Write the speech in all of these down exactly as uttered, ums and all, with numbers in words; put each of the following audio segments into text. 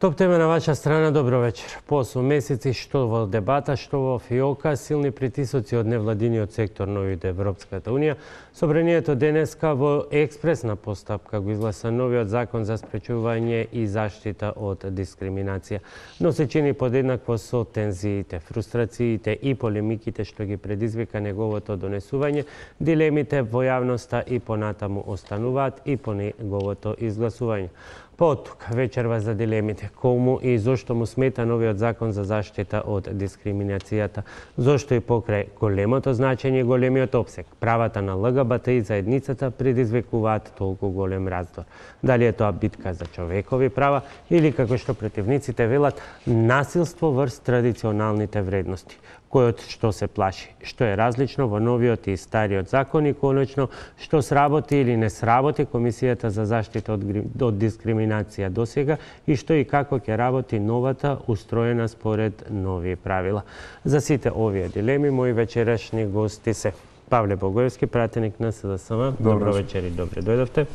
Топ тема на ваша страна, добро вечер. По осум месеци, што во дебата, што во фиока, силни притисоци од невладиниот сектор на Европската Унија, Собранието денеска во експресна постапка го изгласа новиот закон за спречување и заштита од дискриминација, но се чини подеднакво со тензиите, фрустрациите и полемиките што ги предизвика неговото донесување, дилемите во јавноста и понатаму остануваат и по неговото изгласување. Потука вечерва за дилемите, кому и зошто му смета новиот закон за заштита од дискриминацијата, зошто и покрај големото значење и големиот опсег, правата на ЛГБТ заедницата предизвикуваат толку голем раздор. Дали е тоа битка за човекови права или, како што противниците велат, насилство врз традиционалните вредности, којот што се плаши, што е различно во новиот и стариот закон и конечно што сработи или не сработи Комисијата за заштита од, од дискриминација досега и што и како ќе работи новата устроена според нови правила. За сите овие дилеми мои вечерашни гости се Павле Богоевски, пратеник на СДСМ. Добро вечер и добре дојдовте.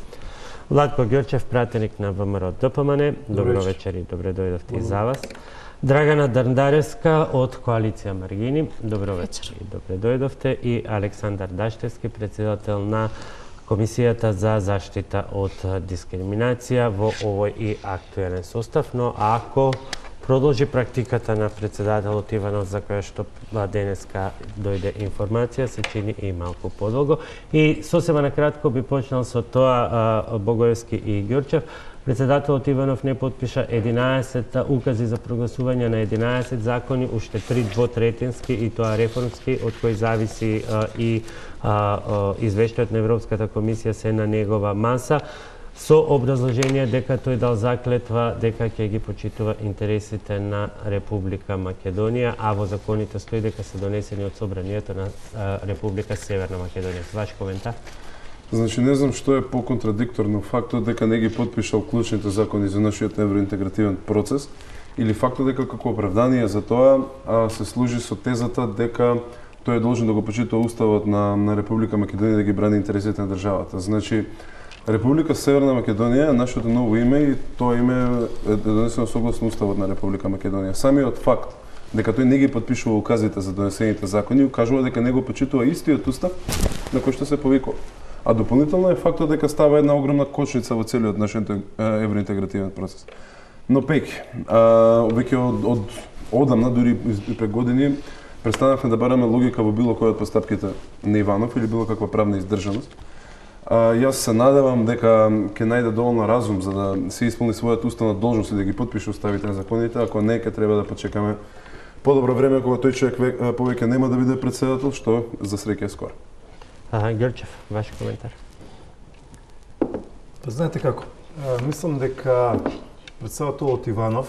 Владко Ѓорчев, пратеник на ВМРО ДПМН. Добро вечер и добре дојдовте и за вас. Драгана Дарндаревска од Коалиција Маргини. Добро вечер и добре дојдовте. И Александар Даштевски, председател на Комисијата за заштита од дискриминација во овој и актуелен состав. Но ако продолжи практиката на председателот Иванов, за која што денеска дојде информација, се чини и малку подолго. И сосема накратко би почнал со тоа Богоевски и Ѓорчев. Председателот Иванов не подпиша единаесет укази за прогласување на единаесет закони, уште три двотретински и тоа реформски, од кои зависи а, и а, а, извештајот на Европската комисија се на негова маса, со образложение дека тој дал заклетва дека ќе ги почитува интересите на Република Македонија, а во законите стои дека се донесени од Собранието на а, Република Северна Македонија. Ваш коментар? Значи, не знам што е поконтрадикторно фактот дека не ги подпишал клучните закони за нашиот евроинтегративен процес или фактот дека како оправдание за тоа а, се служи со тезата дека тој е должен да го почитува уставот на, на Република Македонија да ги брани интересите на државата. Значи, Република Северна Македонија е нашето ново име и тоа име е донесено согласно уставот на Република Македонија. Самиот факт дека тој не ги подпишува указите за донесените закони укажува дека не го почитува истиот устав на кој што се повикува. А дополнително е фактот дека става една огромна кочница во целиот нашиот евроинтегративен процес. Но пеки, веќе од, од одамна, дури и пред години, престанавме да бараме логика во било која од постапките на Иванов или било каква правна издржаност. А, јас се надевам дека ќе најде доволно разум за да се исполни својата уставна должност и да ги подпише уставите на законите, ако не, ќе треба да почекаме подобро време кога тој човек повеќе нема да биде председател, што за среќа е скоро. Ага, Ѓорчев, ваш коментар. Па знаете како, мислам дека председателот Иванов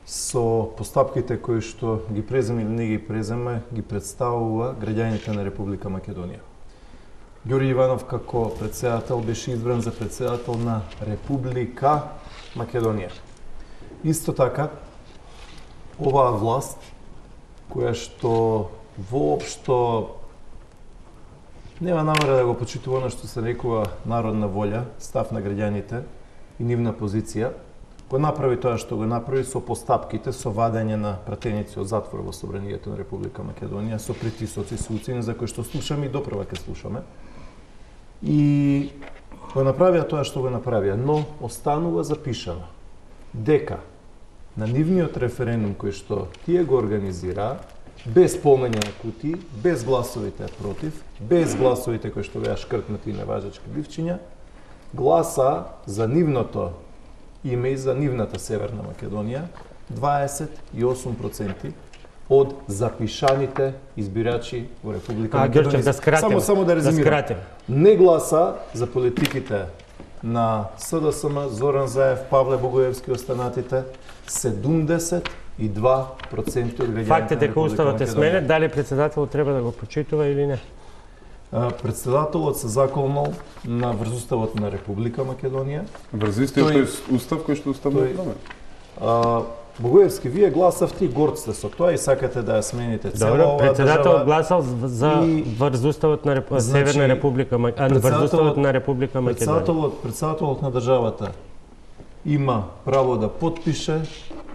со постапките кои што ги преземе или не ги преземе, ги представува граѓаните на Република Македонија. Ѓорѓе Иванов како председател беше избран за председател на Република Македонија. Исто така, оваа власт, која што воопшто нема намера да го почитува она што се рекува народна волја, став на граѓаните и нивна позиција, го направи тоа што го направи со постапките, со вадење на пратеници од затвор во Собранието на Република Македонија, со притисоци, со уцени за кои што слушаме и допрва ќе слушаме. И го направија тоа што го направија, но останува запишано дека на нивниот референдум кој што тие го организираа, без полнење на кутии, без гласовите против, без гласовите кои што беа шкртнати и неважечки бивчиња, гласа за нивното име и за нивната Северна Македонија дваесет и осум проценти од запишаните избирачи во Република а, Македонија. Ѓорчев, да скратим, само само да резимирам. Да не гласа за политиките на СДСМ, Зоран Заев, Павле Богоевски и останатите, седумдесет и два проценти од граѓаните. Факт е дека уставот е сменет, дали председателот треба да го почитува или не? Председателот се заколнал на врз уставот на Република Македонија. Врз истиот тој устав кој што уставно промен. Богоевски, вие гласавте и горд сте со тоа и сакате да ја смените цела оваа држава. Председателот гласал за врз уставот на Реп... значи, Северна Република Македонија, врз уставот на Република Македонија. Председателот, председателот на државата има право да потпише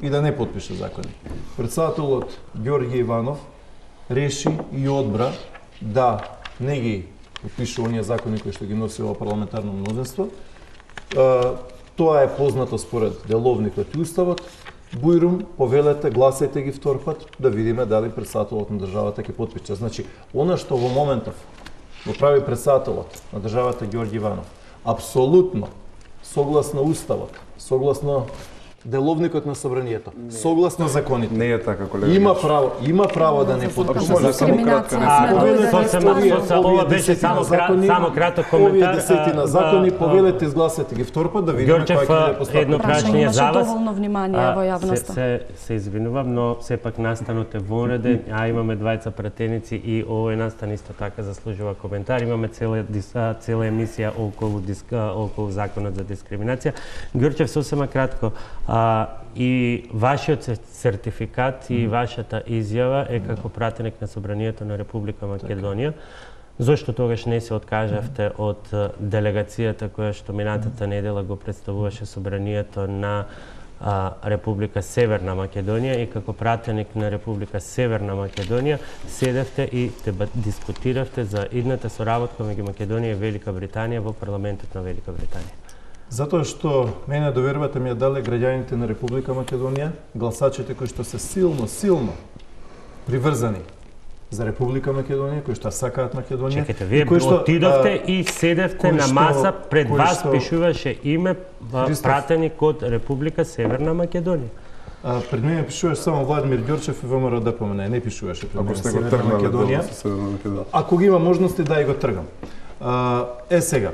и да не потпише закони. Председателот Ѓорѓе Иванов реши и одбра да не ги потпише оние закони кои што ги носи ова парламентарно мнозинство. Тоа е познато според деловникот и уставот. Бујрум, повелете, гласајте ги втор пат, да видиме дали председателот на државата ќе потпише. Значи, она што во моментов го прави председателот на државата Ѓорѓе Иванов, апсолутно согласно уставот, согласно деловникот на собранието, согласно законите. Не е така, колега. Има право, има право да не потпише закони. Ова беше само само краток коментар. Овие десетина закони, повелете, изгласете ги втор пат да видиме кој ќе постапи. Едно прашање за вас. Доволно внимание во јавноста. Се се извинувам, но сепак настанот е вонреден, а имаме двајца пратеници и овој настан исто така заслужува коментар. Имаме цела цела емисија околу околу законот за дискриминација. Ѓорчев, сосема кратко. А, и вашиот сертификат и вашата изјава е како пратеник на Собранието на Република Македонија. Зошто тогаш не се откажавте од делегацијата која што минатата недела го представуваше Собранието на а, Република Северна Македонија и како пратеник на Република Северна Македонија седевте и дебат, дискутиравте за идната соработка меѓу Македонија и Велика Британија во парламентот на Велика Британија? Затоа што мене довербата ми ја дале граѓаните на Република Македонија, гласачите кои што се силно, силно приврзани за Република Македонија, кои што сакаат Македонија. Чекайте, вие што, отидовте а, и седевте на маса, пред вас што, пишуваше име Христов, пратеник од Република Северна Македонија. А, пред мене пишуваше само Владимир Ѓорчев и ВМРО да помене, не пишуваше пред мене Северна Македонија. Ако ги има можности да и го тргам. А, е сега.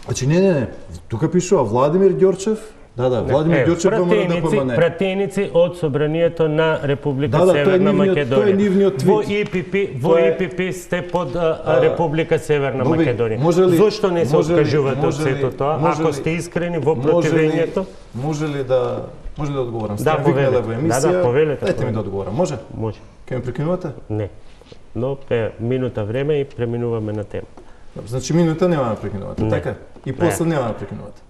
Значи, не, не, не, тука пишува Владимир Ѓорчев, да, да, Владимир е, Ѓорчев ВМРО да помене. Пратеници од Собранието на Република да, да, Северна Македонија. Тоа е нивниот твит. Во И Пи Пи, во И Пи Пи сте под а, а, Република Северна Боби, Македонија. Ли, Зошто не се откажувате од сето тоа, ако сте искрени во противењето? Може ли да може ли да одговорам? Да, повелете. Во емисија. Да, да, повелете. Дайте ми да одговорам. Може? Може. Ке ме прекинувате? Не. Но е минута време и преминуваме на тема. Значи минута нема да прекинувате, така? И после нема да прекинувате.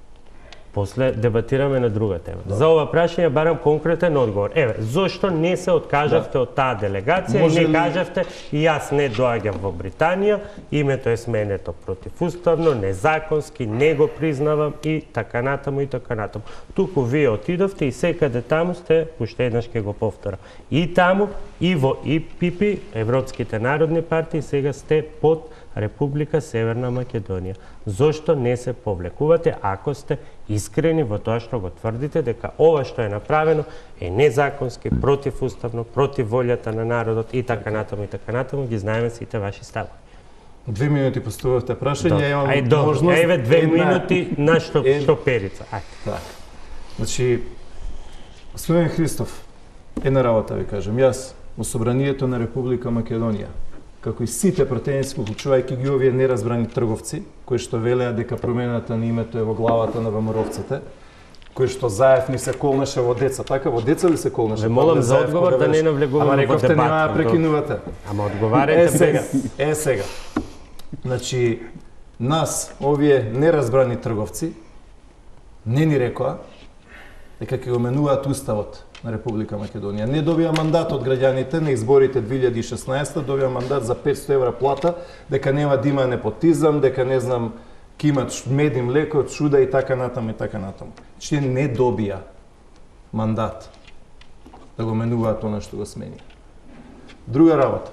После дебатираме на друга тема. Добре. За ова прашање барам конкретен одговор. Еве, зошто не се откажавте да. од таа делегација Може и не ли... кажавте и јас не доаѓам во Британија, името е сменето противуставно, незаконски, не го признавам и така натаму и така натаму. Туку вие отидовте и секаде таму сте, уште еднаш ќе го повторам, и таму и во И Пи Пи, Европските народни партии, сега сте под Република Северна Македонија. Зошто не се повлекувате ако сте искрени во тоа што го тврдите дека ова што е направено е незаконски, противуставно, против волјата на народот и така натаму и така натаму, ги знаеме сите ваши стави. Две минути поставувате прашање, имам Ај, добро. можност... Еве две една... минути на што, ед... што перица. Ај. Так. Значи, господин Христов, една работа ви кажем. Јас во Собранието на Република Македонија, како и сите пратеници, уклучувајќи ги овие неразбрани трговци, кои што велеа дека промената на името е во главата на ВМРО-вците, кои што Заев ни се колнеше во деца, така во деца ли се колнеше? Ве молам за одговор да не навлегуваме во дебат. Ама нема да прекинувате. Ама одговарете е, сега, без... Е сега. Значи, нас, овие неразбрани трговци, не ни рекоа дека ќе го менуваат уставот на Република Македонија. Не добија мандат од граѓаните на изборите две илјади и шеснаесета, добија мандат за петстотини евра плата, дека нема да има непотизам, дека не знам, ќе имат мед и млеко, чуда и така натаму и така натаму. Че не добија мандат да го менуваат она што го смени. Друга работа.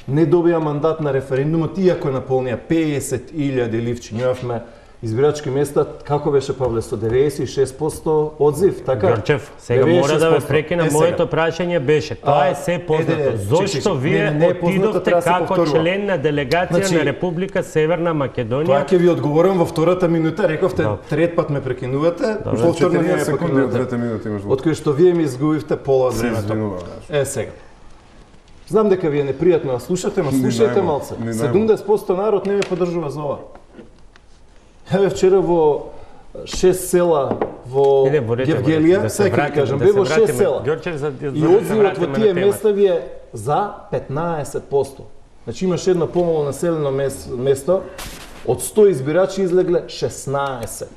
Не добија мандат на референдумот, иако наполнија песет илјади ливчи. Имавме избирачки места, како беше, Павле, сто деветдесет и шест проценти одзив, така? Ѓорчев, сега мора да ве прекина, моето прашање беше, тоа е се познато. Зошто вие отидовте како член на делегација на Република Северна Македонија? Тоа ќе ви одговорам во втората минута, рековте, трет пат ме прекинувате, повторно не ме прекинувате. Од кој што вие ми изгубивте пола од времето. Е, сега. Знам дека ви е непријатно да слушате, но слушајте малце. седумдесет проценти народ не ме поддржува за ова. Еве вчера во шест села во Гевгелија, сега ќе кажам, бе во шест села. И одзивот во тие места ви е за петнаесет проценти. Значи имаше едно помало населено место, од сто избирачи излегле шеснаесет.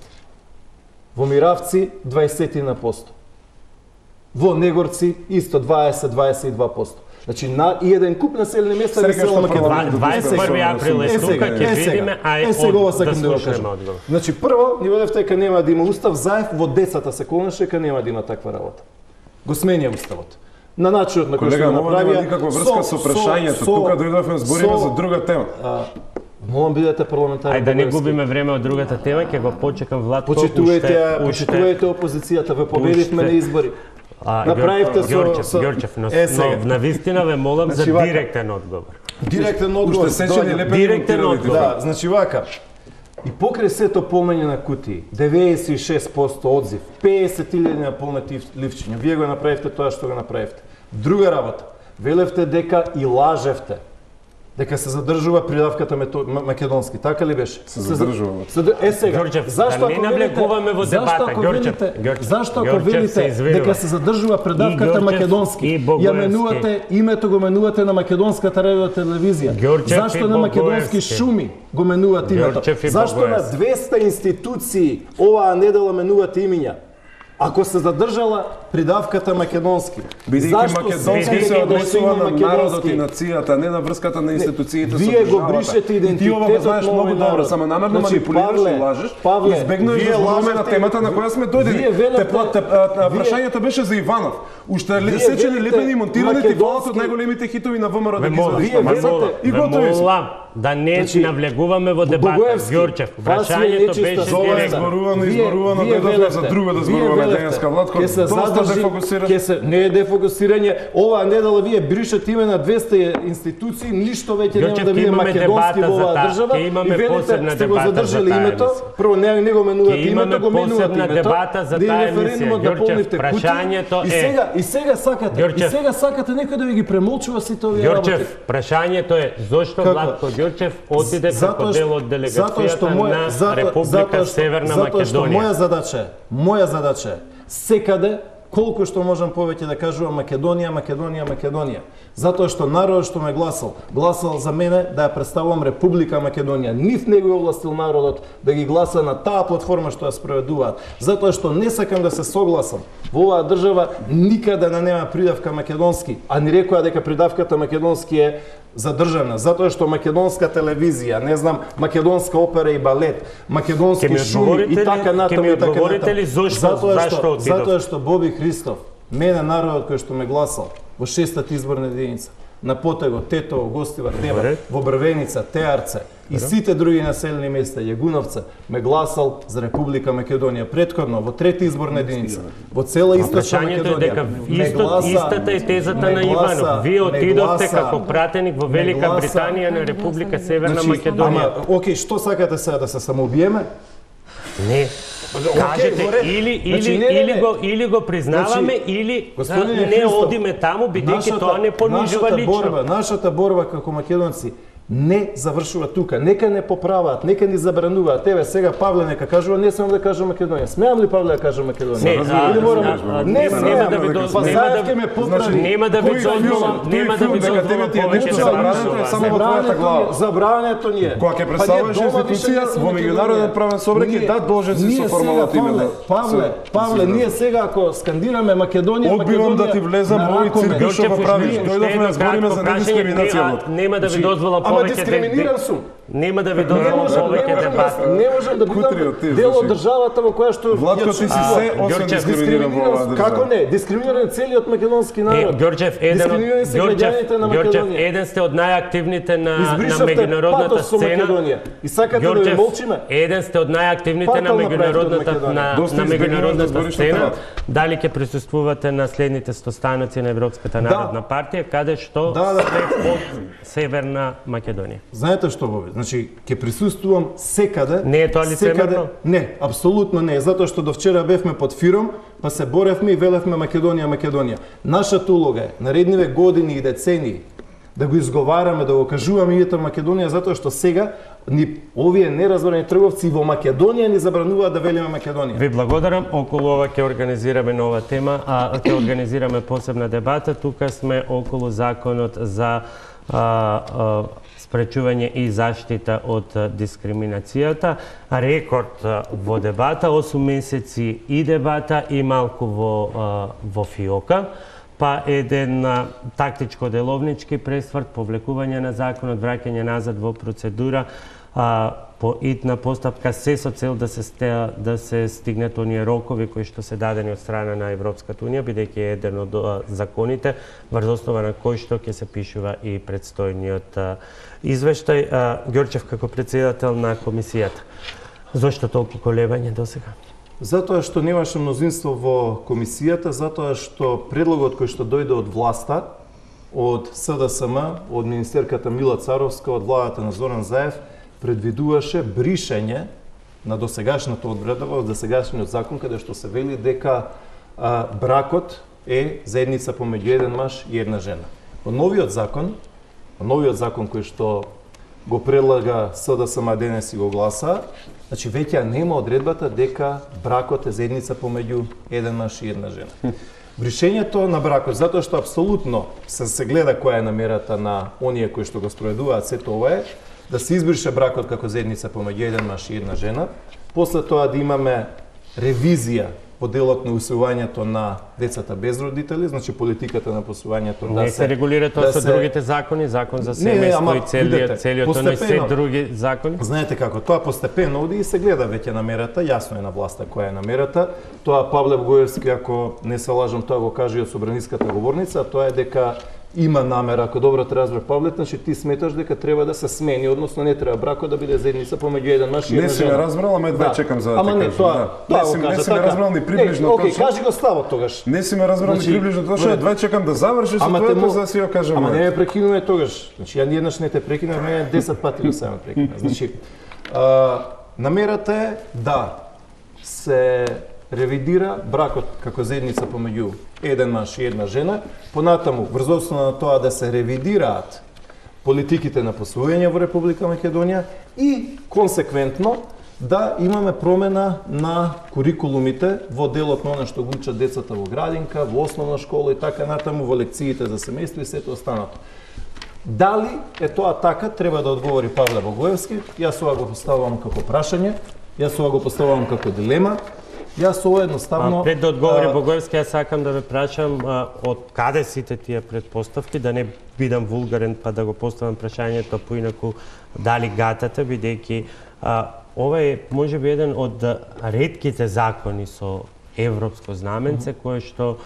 Во Миравци дваесет на посто. Во Негорци исто дваесет до дваесет и два посто. Значи на и еден куп населени места во цела Македонија. дваесет и први април е тука, ќе видиме, а е од да слушнеме одговор. Значи прво, ни велевте дека нема да има устав, заев во десета се колнаше дека нема да има таква работа. Го сменија уставот. На начинот на кој што го направија. Нема никаква врска со прашањето. Тука дојдовме збориме за друга тема. Молам бидете парламентарни. Ајде да не губиме време од другата тема, ќе го почекам Владко. Почитувајте, почитувајте опозицијата, ве победивме на избори. А, Направивте со Ѓорчев, со Ѓорчев, но, но на вистина ве молам за директен одговор. Директен одговор. Уште сечени лепени директен одговор. Да, значи вака. И покрај сето полнење на кутии, деветдесет и шест посто одзив, песет илјади наполнети ливчиња. Вие го направивте тоа што го направивте. Друга работа. Велевте дека и лажевте. Дека се задржува придавката македонски, така ли беше? Се задржува. Е сега, Ѓорчев, зашто да не навлегуваме во дебата, Ѓорчев. Зашто ако велите дека се задржува придавката македонски, ја менувате името го менувате на македонската радио телевизија? Зашто на македонски шуми го менувате името? Зашто на двеста институции оваа недела менувате имиња? Ако се задржала придавката македонски, бидејќи македонски се однесува на народот и нацијата, не на врската на институциите со вие го бришете идентитетот. Ти ова го знаеш многу добро, само намерно манипулираш и лажеш. Избегнуваш да зборуваме на темата на која сме дојдени. Прашањето беше за Иванов. Уште сечени лепени и монтирани ти фалат од најголемите хитови на ВМРО да ги задеш. И готови сме. Да не навлегуваме во дебата, Ѓорчев. Прашањето беше директно. Изборувано, изборувано, дојдовме за друго да зборуваме денеска. Владко, доста дефокусираш. Ке се не е дефокусирање. Оваа недела вие бришете име на двеста институции, ништо веќе нема да биде македонски во оваа држава. И велите сте го задржали името. Прво не не го менувате името, го менувате името. Дебата за таа емисија. Ѓорчев, прашањето е. И сега и сега сакате, и сега сакате некој да ви ги премолчува сите овие работи. Ѓорчев, прашањето е зошто Владко Ѓорчев оди како дел од делегацијата на Република Северна Македонија. Затоа што моја задача е, моја задача е секаде колку што можам повеќе да кажувам Македонија, Македонија, Македонија. Затоа што народот што ме гласал, гласал за мене да ја представувам Република Македонија. Нив не го овластил народот да ги гласа на таа платформа што ја спроведуваат. Затоа што не сакам да се согласам во оваа држава никаде да нема придавка македонски, а ни рекоа дека придавката македонски е задржана, затоа што македонска телевизија, не знам, македонска опера и балет, македонски шуми и така натаму и така натаму. Затоа што, затоа што Боби Христов, мене народот кој што ме гласал во шестата изборна единица, на Потего, Тетово, Гостивар, Дева, во Брвеница, Теарце и сите други населени места, Јагуновца, ме гласал за Република Македонија. Претходно, во трета изборна единица, во цела источна Македонија. Исто, истата е тезата на Иванов. Вие отидовте како пратеник во Велика Британија на Република Северна Македонија. Ама, окей, што сакате сега да се самоубиеме? Не. Кажете или или значи, не, не, не. или го или го признаваме значи, или не Христов, одиме таму бидејќи тоа не понижува лично. Борба, нашата борба како македонци не завршува тука. Нека не поправаат, нека ни забрануваат. Тебе сега Павле нека кажува, не смеам да кажам Македонија. Смеам ли Павле да кажам Македонија? Не, а, или морам, а, не смеам да ви нема да ме поправи. Нема да ви дозволам, нема да ви дозволам повеќе да забрането само во твојата глава. Забрането ни е. Кога ќе представуваш институција во меѓународен правен собрак да должен си со формалното име. Павле, Павле, ние сега ако скандираме Македонија, Македонија, да ти влезам овој цирк што го правиш. Дојдовме да збориме за недискриминација. Нема да ви дозволам дискриминиран сум. Нема да ви дозволам повеќе дебат. Не можам да бидам дел од државата во која што Владко ти си се освен дискриминиран во оваа држава. Како не? Дискриминиран целиот македонски народ. Ѓорчев, еден од Ѓорчев, еден сте од најактивните на на меѓународната сцена. И сакате да ви молчиме? Еден сте од најактивните на меѓународната на на меѓународната сцена. Дали ќе присуствувате на следните стостаноци на Европската народна партија каде што сте од Северна Македонија? Знаете што Боби? Значи, ќе присуствувам секаде. Не е тоа лицемерно? Не, апсолутно не, затоа што до вчера бевме под фиром, па се боревме и велевме Македонија, Македонија. Нашата улога е наредниве години и децении да го изговараме, да го кажуваме името Македонија, затоа што сега ни овие неразборени трговци во Македонија ни забрануваат да велиме Македонија. Ви благодарам. Околу ова ќе организираме нова тема, а ќе организираме посебна дебата. Тука сме околу законот за спречување и заштита од дискриминацијата. Рекорд во дебата, осум месеци и дебата и малку во, во фиока, па еден тактичко-деловнички пресврт, повлекување на законот, враќање назад во процедура, по итна постапка, се со цел да се стеа, да се стигнат оние рокови кои што се дадени од страна на Европската унија, бидејќи е еден од законите врз основа на кој што ќе се пишува и предстојниот извештај. Ѓорчев, како претседател на комисијата, зошто толку колебање досега? Затоа што немаше мнозинство во комисијата, затоа што предлогот кој што дојде од власта, од С Д С М, од министерката Мила Царовска, од владата на Зоран Заев, предвидуваше бришење на досегашната одредба, од досегашниот закон, каде што се вели дека а, бракот е заедница помеѓу еден маж и една жена. Во новиот закон, во новиот закон кој што го предлага С Д С М денес и го гласа, значи веќе нема одредбата дека бракот е заедница помеѓу еден маж и една жена. Бришењето на бракот, затоа што апсолутно се, се гледа која е намерата на оние кои што го спроведуваат сето ова е, да се избрише бракот како заедница помеѓу еден маж и една жена, после тоа да имаме ревизија по делот на усвојувањето на децата без родители, значи политиката на посвојувањето да не се регулира тоа да со се... другите закони, закон за семејство и целиот целиот оној се други закони. Знаете како, тоа постепено оди и се гледа веќе намерата, јасно е на власта која е намерата. Тоа Павле Богоевски, ако не се лажам, тоа го кажа и од собраниската говорница, тоа е дека има намера, ако добро те разбрав Павле, значи ти сметаш дека треба да се смени, односно не треба бракот да биде заедница помеѓу еден маж и една жена. Не си ме разбрал, ама едва да. Чекам за да ама те не, кажам. Тоа, да. тоа не си, кажа, не си така. ме разбрал ни приближно Окей, точно. кажи го ставот тогаш. Не си ме разбрал значи, ни приближно точно, едва чекам да завршиш со тоа за да си ја кажам. Ама не ме прекинуваме тогаш. Значи ја еднаш не те прекинав, мене десет пати го сам прекинав. Значи а, намерата е да се ревидира бракот како заедница помеѓу еден маж и една жена, понатаму врз основа на тоа да се ревидираат политиките на посвојање во Република Македонија и консеквентно да имаме промена на курикулумите во делот на она што го учат децата во градинка, во основна школа и така натаму, во лекциите за семејство и сето останато. Дали е тоа така, треба да одговори Павле Богоевски. Јас ова го поставувам како прашање, јас ова го поставувам како дилема. Јас ова едноставно... А, пред да одговори Богоевски, јас сакам да ве прашам а, од каде сите тие предпоставки, да не бидам вулгарен па да го поставам прашањето поинаку дали гатате, бидејќи ова е можеби еден од ретките закони со европско знаменце, mm-hmm. кое што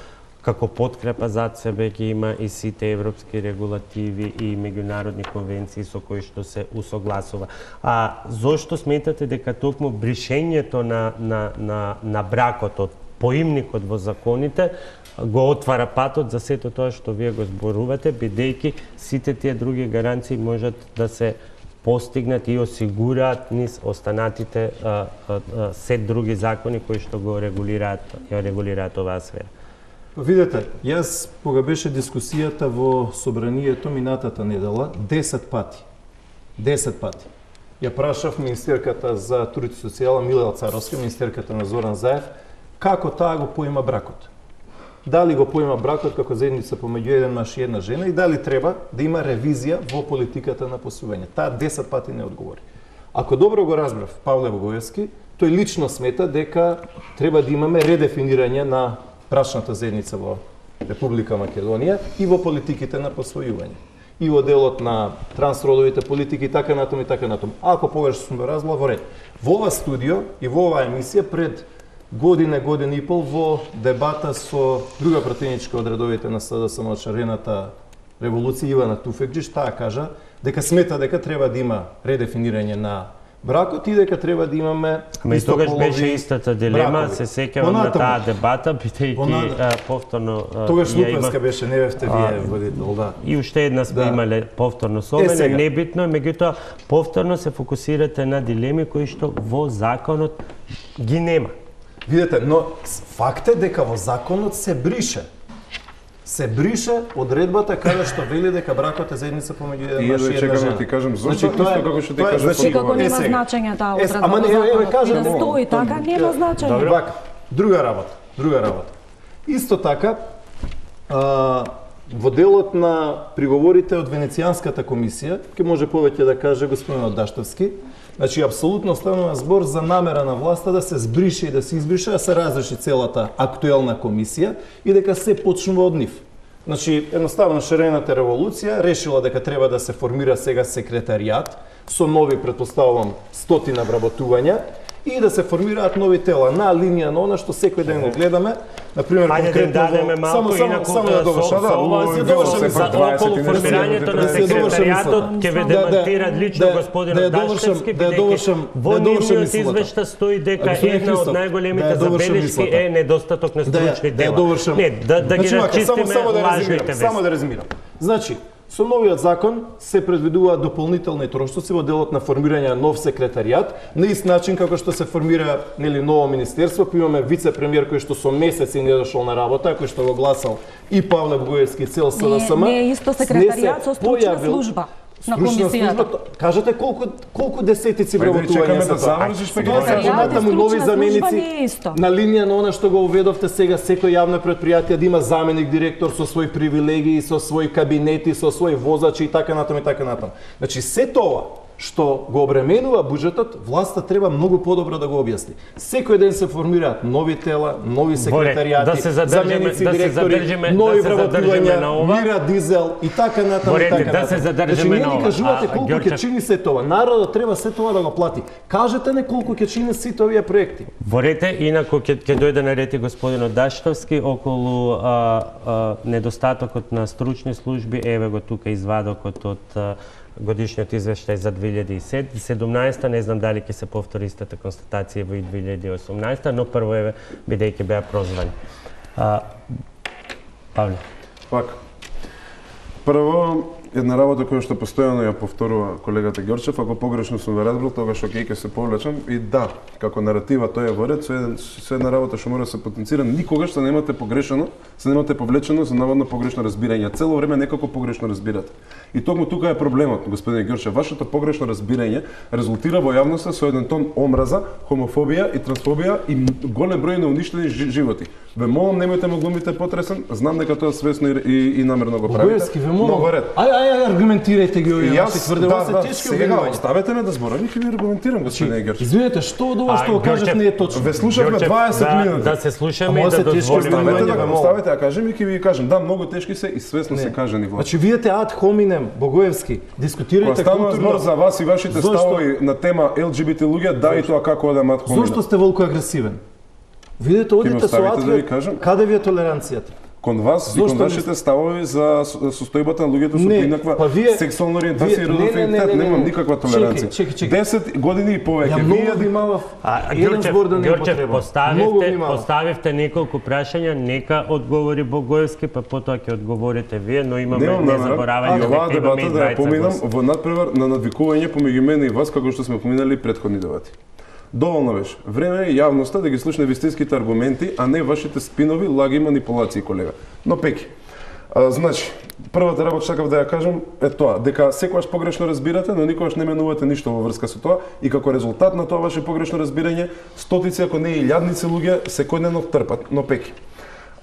како подкрепа зад себе ги има и сите европски регулативи и меѓународни конвенции со кои што се усогласува. А зошто сметате дека токму бришењето на, на, на, на бракот од поимникот во законите го отвара патот за сето тоа што вие го зборувате, бидејќи сите тие други гаранции можат да се постигнат и осигураат низ останатите а, а, а, сет други закони кои што го регулираат, ја регулираат оваа сфера. Видете, јас кога беше дискусијата во собранието минатата недела, десет пати, десет пати, ја прашав министерката за труд и социјала Мила Царовска, министерката на Зоран Заев, како таа го поима бракот. Дали го поима бракот како заедница помеѓу еден маж и една жена и дали треба да има ревизија во политиката на посвојување. Таа десет пати не одговори. Ако добро го разбрав Павле Богоевски, тој лично смета дека треба да имаме редефинирање на брачната заедница во Република Македонија и во политиките на посвојување. И во делот на трансродовите политики и така натаму и така натаму. Ако погрешно сум разбрал, во ред. Во ова студио и во оваа емисија пред година, година и пол во дебата со друга пратеничка од редовите на С Д С М од шарената револуција Ивана Туфекџиш, таа кажа дека смета дека треба да има редефинирање на бракот и дека треба да имаме Ама и тогаш беше истата дилема, бракови. се сеќавам на таа дебата, бидејќи повторно тогаш ја Лупенска има... беше, не бевте вие водител, да. И уште една сме да. имале повторно со мене, небитно е, меѓутоа повторно се фокусирате на дилеми кои што во законот ги нема. Видете, но факт е дека во законот се брише. Се брише одредбата каде што вели дека бракот е заедница помеѓу еден маж и една жена. Ти кажам зошто, значи, тоа е како што ти кажам. Значи како нема значење таа одредба. Ама не, еве кажам, да стои така, нема значење. Вака, друга работа, друга работа. Исто така, а, во делот на приговорите од Венецијанската комисија, ќе може повеќе да каже господинот Даштовски, значи апсолутно станува збор за намера на власта да се збрише и да се избрише, да се разреши целата актуелна комисија и дека се почнува од нив. Значи, едноставно шарената револуција решила дека треба да се формира сега секретаријат со нови, претпоставувам, стотина вработувања и да се формираат нови тела на линија на она што секој ден го гледаме. Например, Ајде да дадеме малку инаку само да довршам. Со ова се довршам за околу формирањето на секретаријатот ќе ве демантира лично господинот Даштевски, бидејќи во нивниот извештај стои дека една од најголемите забелешки е недостаток на стручни дела. Не, да да ги рачистиме лажните вести. Само да резимирам. Значи, со новиот закон се предвидуваат дополнителни трошоци во делот на формирање на нов секретаријат, на ист начин како што се формира нели ново министерство, па имаме вице-премиер кој што со месеци не дошол на работа, кој што го гласал и Павле Бугаевски цел СНСМ. Не, не е исто секретаријат со стручна служба на комисијата. Кажете колку колку десетици вработувања се завршиш па ги кажете му нови заменици на линија на она што го уведовте сега, секој јавно предпријатие да има заменик директор со своји привилегии, со своји кабинети, со своји возачи и така натаму и така натаму. Значи се тоа што го обременува буџетот, власта треба многу подобро да го објасни. Секој ден се формираат нови тела, нови секретаријати, да се заменици да директори, нови вработувања, мира, дизел и така натаму и така да се задржиме на ова. Значи, кажувате колку ќе чини се тоа. Народот треба се тоа да го плати. Кажете не колку ќе чини сите овие проекти. Во рете, инаку ќе ќе дојде на ред и господинот Даштовски околу а, а, недостатокот на стручни служби. Еве го тука извадокот од а, годишниот извештај за две илјади и седумнаесета, не знам дали ќе се повтори истата констатација во и две илјади и осумнаесета, но прво еве бидејќи беа прозвани. А, Павле. Пак. Прво, една работа која што постојано ја повторува колегата Ѓорчев, ако погрешно сум ве разбрал, тогаш окей ќе се повлечам и да, како наратива тоа е во ред, со, еден, со една работа што мора да се потенцира, никогаш се немате погрешено, се немате повлечено за наводно погрешно разбирање. Цело време некако погрешно разбирате. И токму тука е проблемот, господин Ѓорчев, вашето погрешно разбирање резултира во јавноста со еден тон омраза, хомофобија и трансфобија и голем број на уништени животи. Ве молам, немојте ме глумите потресен, знам дека тоа свесно и, и, и намерно го правите. Бугаевски, ве молам. Ај, ај, ај, аргументирајте ги овие ваши тврдења, се тешки обвинувања. Оставете ме да зборам и ќе ви аргументирам, господин Ѓорчев. Извинете, што од ова што го кажав не е точно? Ве слушавме дваесет минути. Да се слушаме и да дозволиме. Оставете да го оставите, а кажем и ќе ви кажам, да, многу тешки се и свесно се кажани власт. Значи вие те ад хоминем, Богоевски, дискутирајте културно. Збор за вас и вашите ставови на тема Ел Џи Би Ти луѓе, да и тоа како одам ад хоминем. Зошто сте волку агресивен? Видете, одите со Атве, каде ви е толеранцијата? Кон вас и кон вашите ставови за состојбата на луѓето со поинаква сексуална ориентација и родов идентитет, немам никаква толеранција. десет години и повеќе. Вие внимавав еден збор да не употребам. Поставивте, поставивте неколку прашања, нека одговори Богоевски, па потоа ќе одговорите вие, но имаме не заборавање дека имаме и двајца да ја поминам во надпревар на надвикување помеѓу мене и вас, како што сме поминали претходни дебати. Доволно беше. Време е јавноста да ги слушне вистинските аргументи, а не вашите спинови, лаги и манипулации, колега. Но пеки. А, значи, првата работа сакав да ја кажам е тоа, дека секогаш погрешно разбирате, но никогаш не менувате ништо во врска со тоа и како резултат на тоа ваше погрешно разбирање, стотици, ако не и илјадници луѓе секојдневно трпат. Но пеки.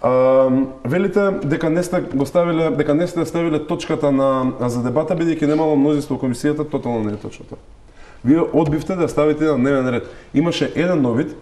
А, велите дека не сте го ставиле, дека не сте ставиле точката на за дебата бидејќи немало мнозинство во комисијата, тотално не е точно тоа. Вие одбивте да ставите на дневен ред. Имаше еден нов вид,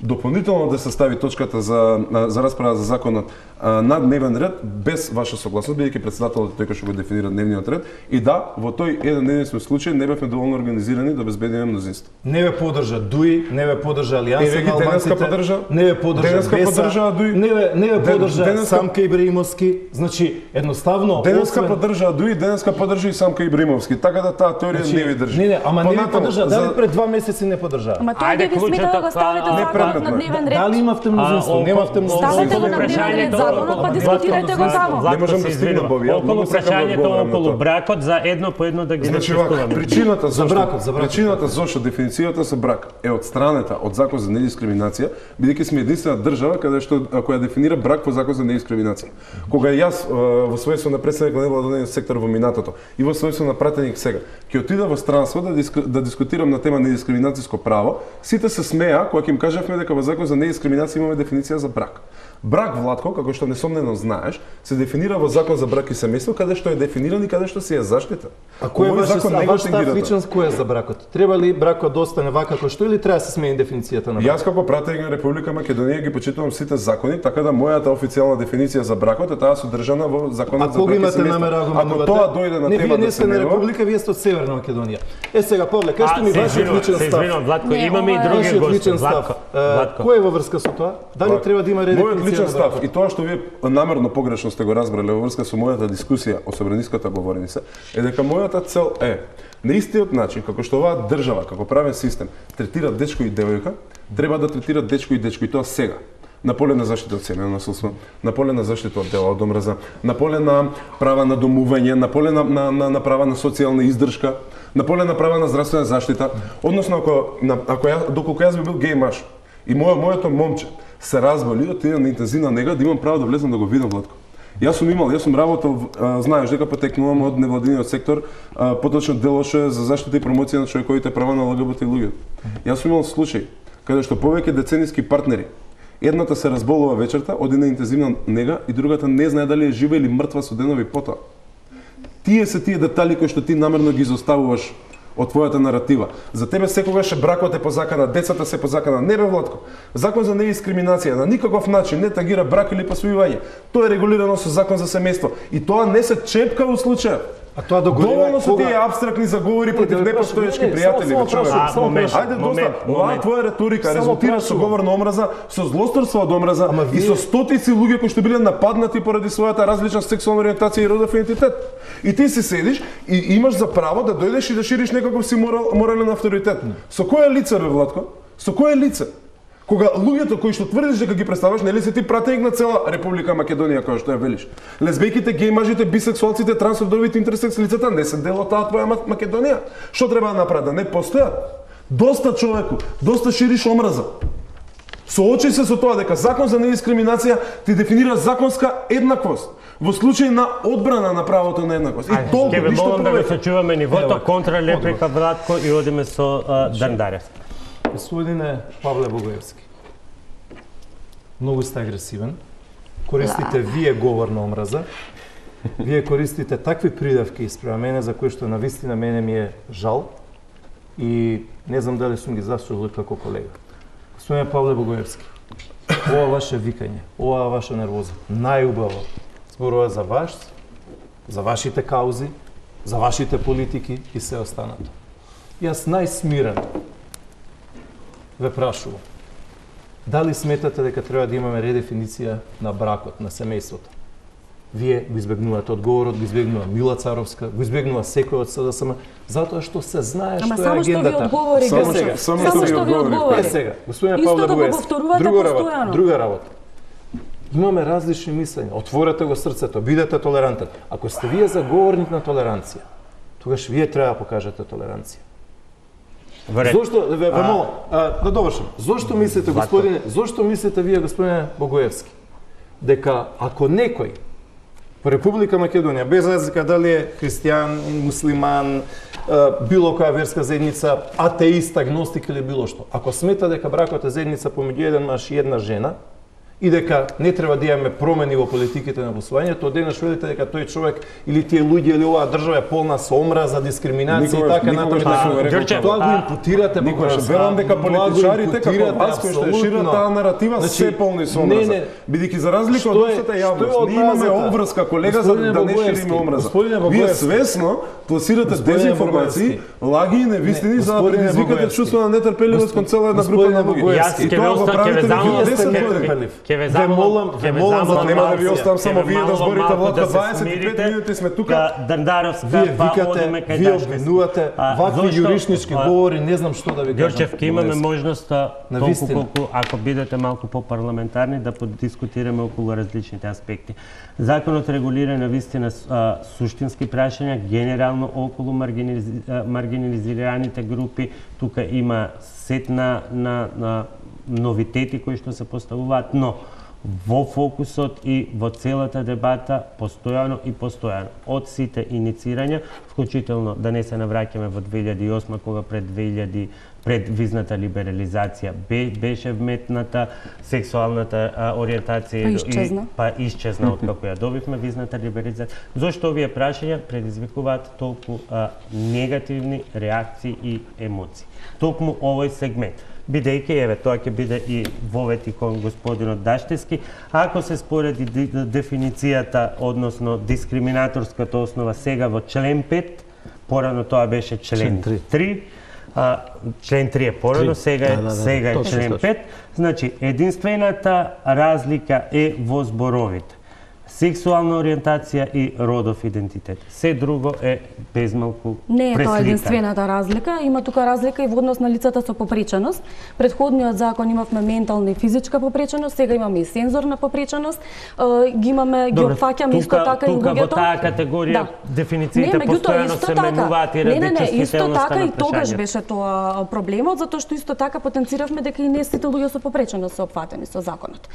дополнително да се стави точката за, за расправа за законот на дневен ред, без ваша согласност, бидејќи председателот тој кој што го дефинира дневниот ред. И да, во тој еден единствен случај не бевме доволно организирани да обезбедиме мнозинство. Не ве поддржа Дуи, не ве поддржа Алијанса на албанците, поддржа, не ве поддржа Беса, не ве, не ве поддржа денеска... Самка Ибраимовски. Значи, едноставно... Денеска освен... поддржа Дуи, денеска поддржа и Самка Ибраимовски. Така да таа теорија значи, не ви држи. Не, не, ама не ви поддржа. Дали за... пред два месеци не поддржа? Ама тоа би смитало да ставите законот на дневен ред. Дали имавте мнозинство? Немавте мнозинство. Ставете го на дневен ред законот, па дискутирајте го таму. Не можам да стигнам Боби. Околу прашањето околу бракот за едно по едно да ги дискутуваме. Причината за бракот, за причината зашто дефиницијата за брак е одстранета од закон за недискриминација, бидејќи сме единствена држава каде што која дефинира брак во закон за недискриминација. Кога јас во својство на претседник на невладен сектор во минатото и во својство на пратеник сега, ќе отида во странство да диск, да дискутирам на тема недискриминацијско право, сите се смеа кога ќе им кажавме дека во закон за недискриминација имаме дефиниција за брак. Брак, Владко, како што несомнено знаеш, се дефинира во Закон за брак и семејство, каде што е дефиниран и каде што се е заштита. А кој е ваш став личен кој е за бракот? Треба ли бракот да остане вака како што или треба да се смени дефиницијата на бракот? Јас како пратеник на Република Македонија ги почитувам сите закони, така да мојата официјална дефиниција за бракот е таа содржана во Законот за брак и семејство. Ако тоа дојде на тема да се менува, не Република, вие сте од Северна Македонија. Е сега Павле, кажете ми вашиот личен став. Се извинувам, Владко, имаме и други гости. Владко, кој е во врска со тоа? Дали треба да има редефиниција? Мојот личен став и тоа што вие намерно погрешно сте го разбрале во врска со мојата дискусија о собраниската говореница е дека мојата цел е на истиот начин како што оваа држава, како правен систем третира дечко и девојка, треба да третира дечко и дечко и тоа сега. На поле на заштита од семејно насилство, на поле на заштита од дела од омраза, на поле на права на домување, на поле на, на, на, на права на социјална издршка, на поле на права на здравствена заштита. Односно, ако, на, ако ја, доколку јас би бил геј маж и мојо, моето момче се разболи, отиде на интензивна нега, да имам право да влезам да го видам, Владко. Јас сум имал, јас сум работел, а, знаеш дека потекнувам од невладиниот сектор, а, поточно делоше за заштита и промоција на човековите права на Л Г Б Т луѓето. Јас сум имал случај каде што повеќе децениски партнери, едната се разболува вечерта, оди на интензивна нега и другата не знае дали е жива или мртва со денови потоа. Тие се тие детали кои што ти намерно ги изоставуваш од твојата наратива. За тебе секогаш е бракот е по закана, децата се по закана. Не бе, Владко. Закон за недискриминација на никаков начин не тагира брак или посвојување. Тоа е регулирано со Закон за семејство и тоа не се чепка во случај. А тоа доголема со тие апстрактни заговори против непостоечки пријатели ве човек. Ајде доста. Оваа твоја реторика резултира со говор на омраза, со злосторство од омраза и со стотици луѓе кои што биле нападнати поради својата различна сексуална ориентација и родов идентитет. И ти си седиш и имаш за право да дојдеш и да шириш некаков си морал, морален авторитет. Со кое лице бе, Владко? Со кое лице? Кога луѓето кои што тврдиш дека ги представаш, нели си ти пратеник на цела Република Македонија, која што ја велиш? Лесбејките, геј мажите, бисексуалците, трансродовите, интерсекс лицата не се дел од таа твоја Македонија. Што треба да направат? Да не постојат? Доста човеку, доста шириш омраза. Соочи се со тоа дека Закон за недискриминација ти дефинира законска еднаквост во случај на одбрана на правото на еднаквост. И толку, ќе ве ништо молам да го повеќе. сочуваме нивото, контра реплика Владко и одиме со Дандарев. Господине Павле Богоевски, многу сте агресивен, користите вие говор на омраза, вие користите такви придавки спрема мене за кои што навистина мене ми е жал и не знам дали сум ги заслужил како колега. Господине Павле Богоевски, ова ваше викање, ова ваша нервоза, најубаво зборува за вас, за вашите каузи, за вашите политики и се останато. Јас најсмирен ве прашувам, дали сметате дека треба да имаме редефиниција на бракот, на семејството? Вие го избегнувате одговорот, го избегнува Мила Царовска, го избегнува секој од С Д С М, затоа што се знае што е агендата. Ама само што ви одговори, Само само што ви одговори. Е сега, господине Исто Павле да го Богоевски, повторувате друга работа, постојано. друга работа. Имаме различни мислења, отворете го срцето, бидете толерантен. Ако сте вие заговорник на толеранција, тогаш вие треба да покажете толеранција. Зошто, ве, ве молам, да довршам. Зошто мислите, господине, зошто мислите вие, господине Богоевски, дека ако некој во Република Македонија, без разлика дали е христијан, муслиман, било која верска заедница, атеист, агностик или било што, ако смета дека бракот е заедница помеѓу еден маж и една жена, и дека не треба да имаме промени во политиките на посвојањето, денес велите дека тој човек или тие луѓе или оваа држава е полна со омраза, дискриминација и така натаму. Тоа го импутирате Никогаш верувам дека политичарите како вас кои што шират таа наратива се полни со омраза. Бидејќи за разлика од општата јавност, ние имаме обврска, колега, за да не шириме омраза. Вие свесно пласирате дезинформации, лаги и невистини за да предизвикате чувство на нетрпеливост кон цела една група на луѓе. И тоа го правите во десет години. Ке ве замолам, ке ве замолам, нема да ви оставам само вие да зборите, Владко, дваесет и пет минути сме тука. Дандаровска, вие викате, вие обвинувате, вакви јуришнички говори, не знам што да ви кажам. Ѓорчев, ке имаме можноста, толку колку, ако бидете малку по-парламентарни, да подискутираме околу различните аспекти. Законот регулира на вистина суштински прашања, генерално околу маргинализираните групи. Тука има сет на, на, на новитети кои што се поставуваат, но во фокусот и во целата дебата постојано и постојано. Од сите иницирања, вклучително да не се навраќаме во две илјади и осма кога пред две илјади пред визната либерализација беше вметната сексуалната а, ориентација па исчезна. и па исчезна од како ја добивме визната либерализација. Зошто овие прашања предизвикуваат толку а, негативни реакции и емоции? Токму овој сегмент. Бидејќи, еве, тоа ќе биде и вовети кон господинот Даштевски, ако се спореди дефиницијата, односно дискриминаторската основа сега во член пет, порано тоа беше член три, а, член три е порано, сега е, да, да, да, сега е член точно, пет, значи единствената разлика е во зборовите. Сексуална ориентација и родов идентитет. Се друго е безмалку пресликано. Не е тоа единствената разлика, има тука разлика и во однос на лицата со попреченост. Предходниот закон имавме ментална и физичка попреченост, сега имаме и сензорна попреченост. Ги имаме, ги опфаќаме исто така и луѓето. Тука во таа категорија да. Дефинициите постојано се менуваат и не, не, не, исто така на и тогаш беше тоа проблемот, затоа што исто така потенциравме дека и не сите луѓе со попреченост се опфатени со законот.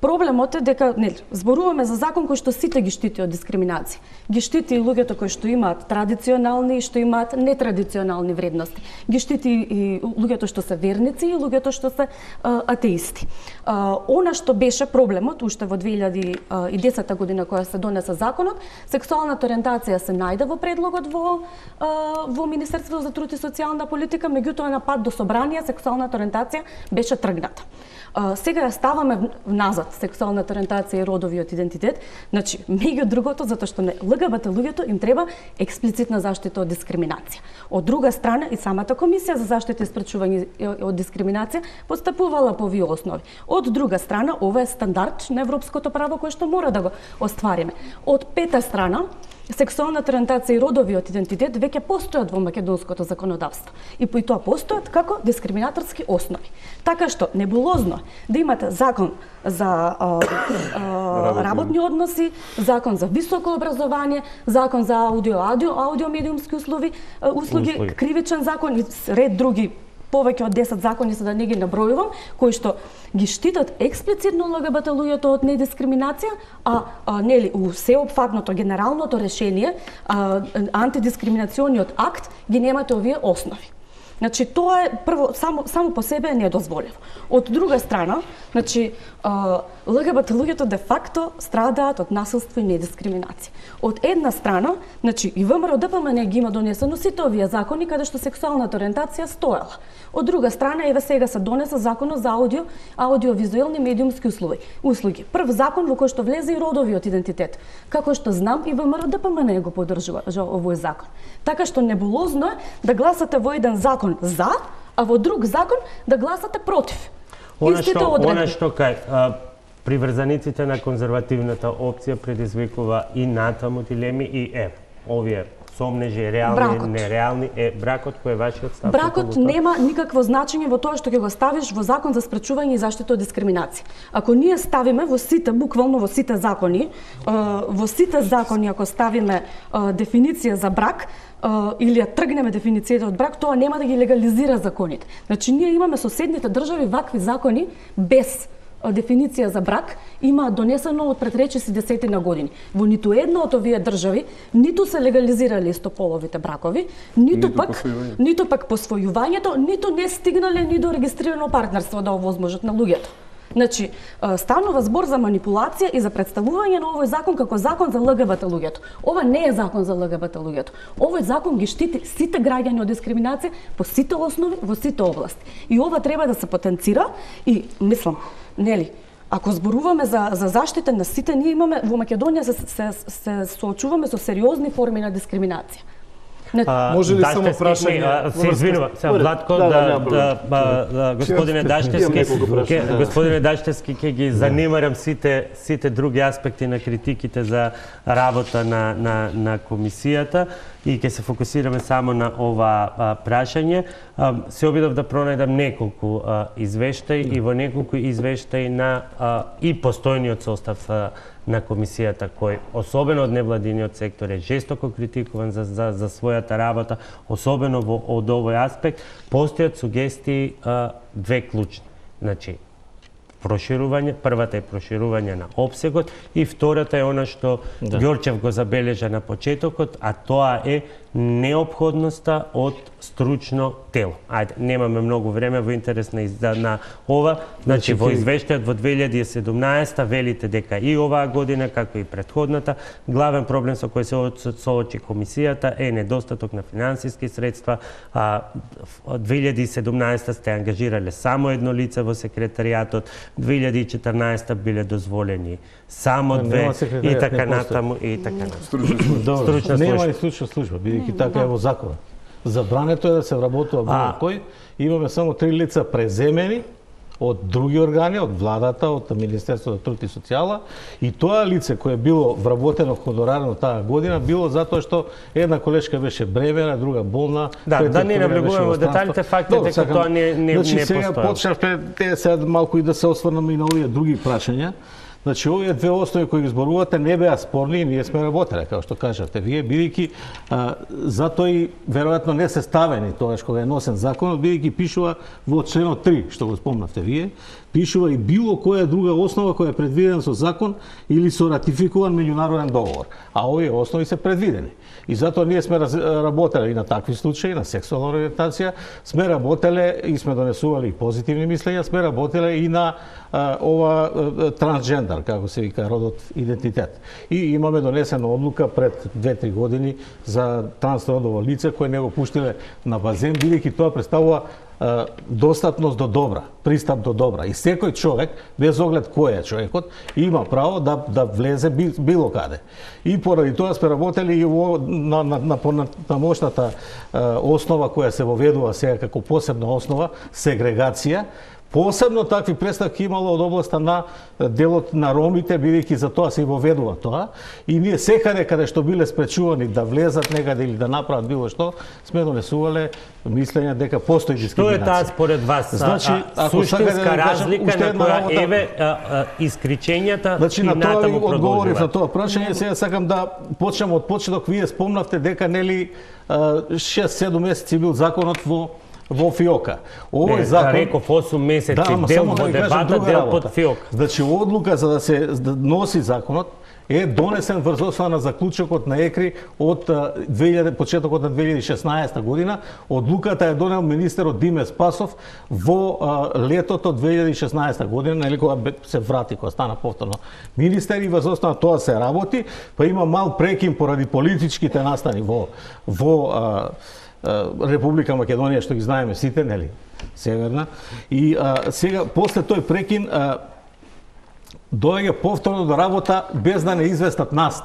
Проблемот е дека нели зборуваме за закон кој што сите ги штити од дискриминација. Ги штити и луѓето кои што имаат традиционални и што имаат нетрадиционални вредности. Ги штити и луѓето што се верници и луѓето што се а, атеисти. А, она што беше проблемот уште во две илјади и десета година кога се донесе законот, сексуалната ориентација се најде во предлогот во а, во Министерството за труд и социјална политика, меѓутоа на пат до собрание сексуалната ориентација беше тргната. Uh, сега ја ставаме назад сексуалната ориентација и родовиот идентитет, значи меѓу другото затоа што не ЛГБТ луѓето им треба експлицитна заштита од дискриминација. Од друга страна и самата комисија за заштита и спречување од дискриминација постапувала по овие основи. Од друга страна ова е стандард на европското право кој што мора да го оствариме. Од пета страна сексуалната ориентација и родовиот идентитет веќе постојат во македонското законодавство и по тоа постојат како дискриминаторски основи. Така што небулозно да имате закон за а, а, работни односи, закон за високо образование, закон за аудио, аудио, аудио медиумски услуги, услуги, услуги, кривичен закон и ред други повеќе од десет закони, за да не ги набројувам, кои што ги штитат експлицитно ЛГБТ луѓето од недискриминација, а, а нели у сеопфатното генералното решение, а, антидискриминациониот акт ги немате овие основи. Значи тоа е прво само само по себе е недозволено. Од друга страна, значи ЛГБТ луѓето де факто страдаат од насилство и недискриминација. Од една страна, значи и ВМРО Д П М Н ги има донесено сите овие закони каде што сексуалната ориентација стоела. Од друга страна, еве сега се донесе законот за аудио, аудиовизуелни медиумски услуги. Услуги. Прв закон во кој што влезе и родовиот идентитет. Како што знам и ВМРО Д П М Н го поддржува овој закон. Така што небулозно е да гласате во еден закон за, а во друг закон да гласате против. Она што, она што кај а, приврзаниците на конзервативната опција предизвикува и натаму дилеми и е, овие сомнежи, реални, бракот. Нереални, е бракот кој е вашиот став? Бракот нема никакво значење во тоа што ќе го ставиш во закон за спречување и заштита од дискриминација. Ако ние ставиме во сите, буквално во сите закони, во сите закони ако ставиме дефиниција за брак, или ја тргнеме дефиницијата од брак, тоа нема да ги легализира законите. Значи ние имаме соседните држави вакви закони без дефиниција за брак има донесено од пред речиси десетина години. Во ниту една од овие држави ниту се легализирале истополовите бракови, ниту, ниту пак посвојување. ниту пак посвојувањето, ниту не стигнале ни до регистрирано партнерство да овозможат на луѓето. Значи, станува збор за манипулација и за представување на овој закон како закон за ЛГБТ луѓето. Ова не е закон за ЛГБТ луѓето. Овој закон ги штити сите граѓани од дискриминација по сите основи во сите области. И ова треба да се потенцира и мислам, нели, ако зборуваме за за заштита на сите, ние имаме во Македонија се се, се соочуваме со сериозни форми на дискриминација. А, може ли само прашање? Се извинува, сега Владко, да, да, да, да, да, господине Даштевски, господине Даштевски, ќе ги занимарам сите сите други аспекти на критиките за работа на на на комисијата и ќе се фокусираме само на ова а, прашање. А, се обидов да пронајдам неколку а, извештаи и во неколку извештаи на а, и постојниот состав а, на комисијата, кој особено од невладиниот сектор е жестоко критикуван за, за, за својата работа, особено во од овој аспект, постојат сугестии а, две клучни. Значи, проширување, првата е проширување на опсегот и втората е она што да. Ѓорчев го забележа на почетокот, а тоа е неопходноста од стручно тело. Ајде, немаме многу време во интерес на, на ова, значи во извештајот во две илјади и седумнаесета велите дека и оваа година, како и претходната, главен проблем со кој се соочи комисијата е недостаток на финансиски средства. А, две илјади и седумнаесета сте ангажирале само едно лице во секретаријатот, две илјади и четрнаесета биле дозволени само две и така натаму и така натаму. Стручна служба. Стручна служба. Нема и стручна служба, бидејќи така е во законот. Забрането е да се вработува било кој. Имаме само три лица преземени од други органи, од владата, од Министерството за труд и социјала, и тоа лице кое било вработено хонорарно таа година било затоа што една колешка беше бремена, друга болна. Да, да не навлегуваме во деталите, фактот е дека тоа не не значи, не постои. Сега почнавме те сега малку и да се осврнеме и на овие други прашања. Значи, овие две основи кои ги зборувате не беа спорни и ние сме работеле, како што кажавте вие, бидејќи затоа и веројатно не се ставени тогаш кога е носен законот, бидејќи пишува во членот три, што го спомнавте вие, пишува и било која друга основа која е предвидена со закон или со ратификуван меѓународен договор. А овие основи се предвидени. И затоа ние сме работеле и на такви случаи, на сексуална ориентација, сме работеле и сме донесували и позитивни мислења, сме работеле и на а, ова а, трансджендер, како се вика, родот идентитет. И имаме донесена одлука пред две-три години за трансродово лице кое не го пуштиле на базен, бидејќи тоа представува достапност до добра, пристап до добра. И секој човек, без оглед кој е човекот, има право да да влезе било каде. И поради тоа сме работели и во, на, на, на, на, на мощната основа која се воведува сега како посебна основа, сегрегација. Посебно такви представки имало од областа на делот на ромите, бидејќи за тоа се и воведува тоа. И ние секаде каде што биле спречувани да влезат некаде или да направат било што, сме донесувале мислење дека постои дискриминација. Што е таа според вас? Значи, ако суштинска да разлика на која работа... еве искричењата значи, и натаму продолжуваат? Значи, на тоа одговорив на тоа прашање, сега сакам да почнем од почеток. Вие спомнавте дека нели шест-седум месеци бил законот во во ФИОКа. Овој не, закон реков осум месеци, да, дел во дебата, дел под ФИОКа. Значи, одлука за да се да носи законот е донесен врз основа на заклучокот на ЕКРИ од две илјади почетокот на две илјади и шеснаесета година. Одлуката е донел министерот Диме Спасов во а, летото две илјади и шеснаесета година, нели кога се врати, кога стана повторно министер, и врз основа тоа се работи, па има мал прекин поради политичките настани во во а, Република Македонија, што ги знаеме сите, нели, северна. И а, сега, после тој прекин, а, доаѓа повторно до работа без да не известат нас.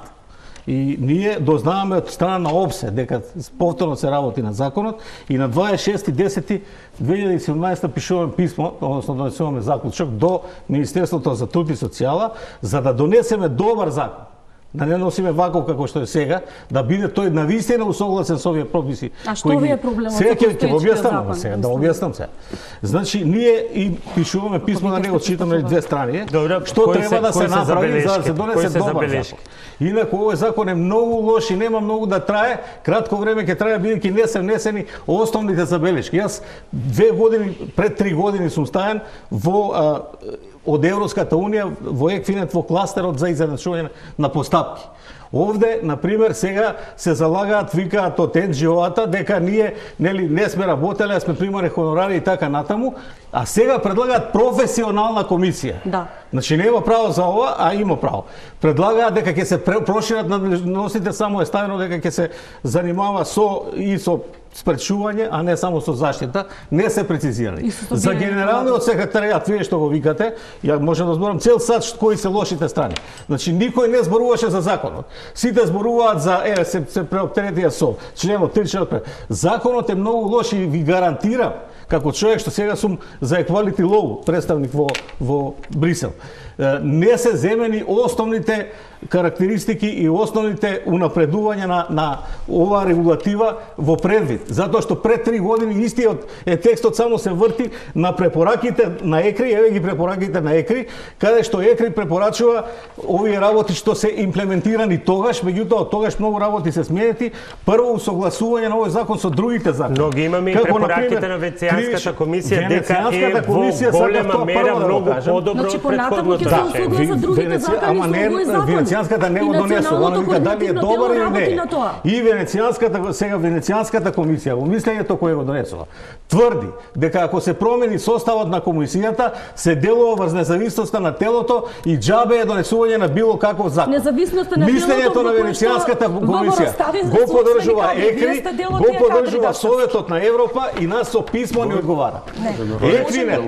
И ние дознаваме од страна на ОПСЕ дека повторно се работи на законот и на дваесет и шести десети две илјади и седумнаесета пишуваме писмо, односно донесуваме заклучок до Министерството за труд и социјала за да донесеме добар закон. Да не носиме ваков како што е сега, да биде тој навистина усогласен со овие прописи. А што ви е проблемот? Сега ќе ќе објаснам сега, да објаснам сега. Значи ние и пишуваме писмо на него, читаме две страни. Добре, што треба да се направи за да се донесе добар закон. Инаку овој закон е многу лош и нема многу да трае, кратко време ќе трае бидејќи не се внесени основните забелешки. Јас две години пред три години сум стаен во а, од Европската унија во Екфинет во кластерот за изедначување на постапки. Овде, на пример, сега се залагаат, викаат од ен џи о-ата дека ние нели не сме работеле, а сме примале хонорари и така натаму, а сега предлагаат професионална комисија. Да. Значи нема право за ова, а има право. Предлагаат дека ќе се прошират надležностите, само е ставено дека ќе се занимава со и со спречување, а не само со заштита, не се прецизирани. За генералниот секретаријат, вие што го викате, ја можам да зборам цел сат кои се лошите страни. Значи никој не зборуваше за законот. Сите зборуваат за е се, се преоптеретија со членот три членот пет. Законот е многу лош и ви гарантирам како човек што сега сум за equality law представник во во Брисел. Не се земени основните карактеристики и основните унапредувања на на оваа регулатива во предвид. затоа што пред три години истиот е текстот само се врти на препораките на ЕКРИ, еве ги препораките на ЕКРИ, каде што ЕКРИ препорачува овие работи што се имплементирани тогаш, меѓутоа од тогаш многу работи се сменети. Прво усогласување на овој закон со другите закони. Но ги имаме и препораките на Венецијанската комисија дека е во голема мера многу подобро од претходното закони. Ама не, Венецијанската не го донесува, она вика дали е добар или не. И Венецијанската, сега Венецијанската комисија, во мислењето кое го донесува, тврди дека ако се промени составот на комисијата, се делува врз независноста на телото и џабе е донесување на било каков закон. Независноста на мислењето на Венецијанската комисија го поддржува ЕКРИ, го поддржува Советот на Европа и нас со писмо ни одговара. ЕКРИ не,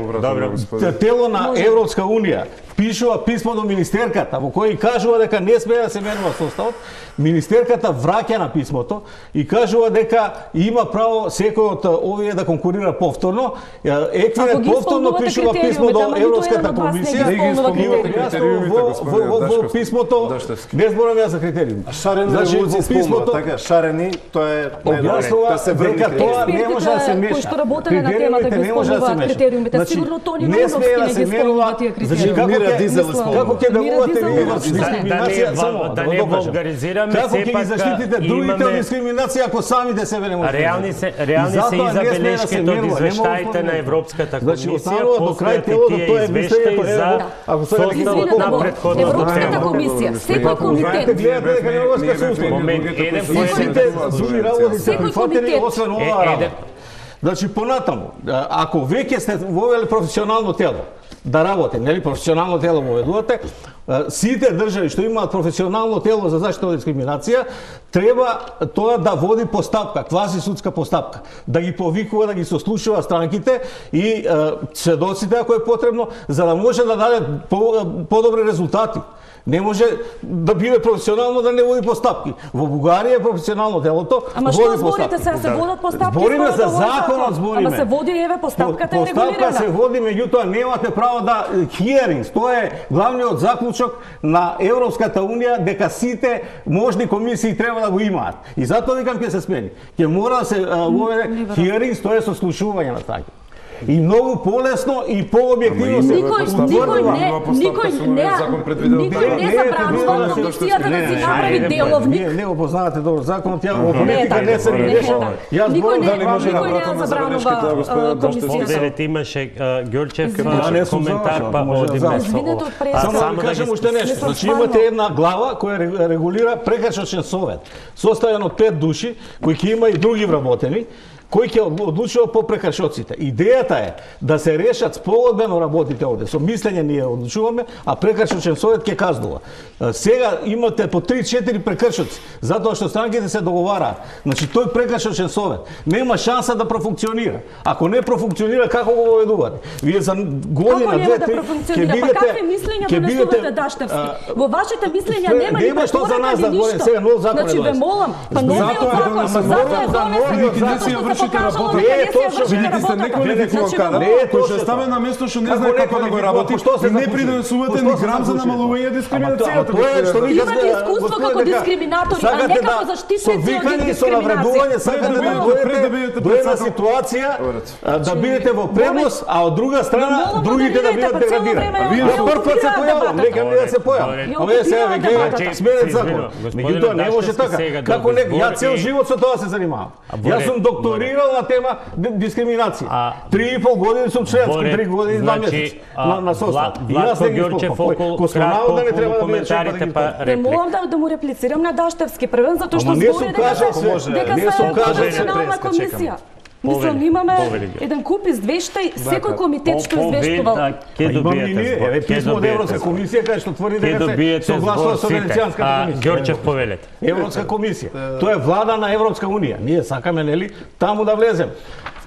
тело на Европска унија пишува писмо до министерката во кој кажува дека не смее да се менува составот. Министерката враќа на писмото и кажува дека има право секој од овие да конкурира повторно. ЕКРИ повторно пишува писмо до Европската комисија во писмото не зборам ја за критериуми. Шарени револуција спомнува, така шарени, тоа е објаснува дека тоа не може да се меша. Кои што работеле на темата ги спомнуваат критериумите, сигурно Тони Новски не ги спомнува тие критериуми. Како ќе делувате вие во дискриминација? Да не вулгаризираме, како ќе ги заштитите другите од дискриминација ако самите себе не можете? Реални се реални се и забелешките од извештаите на Европската комисија, до крај телото тоа е мислењето за ако се на претходната Европската комисија, секој комитет гледате дека не може да се услови. Момент еден секој работи се прифатени освен ова работа. Значи понатаму, ако веќе сте вовели професионално тело да работи, нели професионално тело воведувате, сите држави што имаат професионално тело за заштита од дискриминација, треба тоа да води постапка, квази судска постапка, да ги повикува, да ги сослушува странките и сведоците ако е потребно, за да може да даде подобри резултати. Не може да биде професионално да не води постапки. Во Бугарија е професионално делото, ама што зборите сега се водат постапки? Збориме за законот, збориме. Ама се води еве постапката е регулирана. Постапка се води, меѓутоа немате право да hearings. Тоа е главниот заклучок на Европската унија дека сите можни комисии треба да го имаат. И затоа викам ќе се смени. Ќе мора да се воведе hearings, тоа е сослушување на странки. И многу полесно и пообјективно се никој никој не никој не никој не забранува комисијата да си направи деловник. Не го познавате добро законот, ја во политика не се решава. Јас зборам дали може да вратам забранува комисијата. Имаше Ѓорчев коментар па одиме со ова. Само да кажам уште нешто. Значи имате една глава која регулира прекршачен совет, составен од пет души кои ќе има и други вработени, кој ќе одлучува по прекршоците. Идејата е да се решат спогодбено работите овде. Со мислење ние одлучуваме, а прекршочен совет ќе казнува. Сега имате по три-четири прекршоци, затоа што странките се договараат. Значи тој прекршочен совет нема шанса да профункционира. Ако не профункционира, како го воведувате? Вие за година, две, три ќе бидете какви мислења донесувате Даштевски? Во вашите мислења нема ни препорака ни ништо. Сега нов закон. Значи ве молам, па новиот закон, затоа е донесен. Не е точно, видите сте неквалификуван кадар, кој ќе стане на место што не знае како да го работи и не придонесувате ни грам за намалување дискриминацијата. Тоа е што ви имате искуство како дискриминатори, а не како заштитници од дискриминација. Со навредување сакате да дојдете до една ситуација да бидете во предност, а од друга страна другите да бидат деградирани. Вие прв пат се појавам, нека ми да се појавам. Ама е сега веќе гледате сменет закон. Меѓутоа не може така. Како не, ја цел живот со тоа се занимавам. Јас сум докторирал на тема дискриминација. Три и пол години сум членски, три години и два месеци на состав. И јас не ги исполнувам. Космонавот да не треба да биде членски па да ги морам да му реплицирам на Даштевски првен, затоа што збори дека се професионална комисија. Мислам, имаме еден куп извештај, секој комитет што извештувал. Ке добиете писмо од Европска комисија кај што тврди дека се согласува со Венецијанската комисија. Ѓорчев повелете. Европска комисија. Тоа е влада на Европска унија. Ние сакаме нели таму да влезем.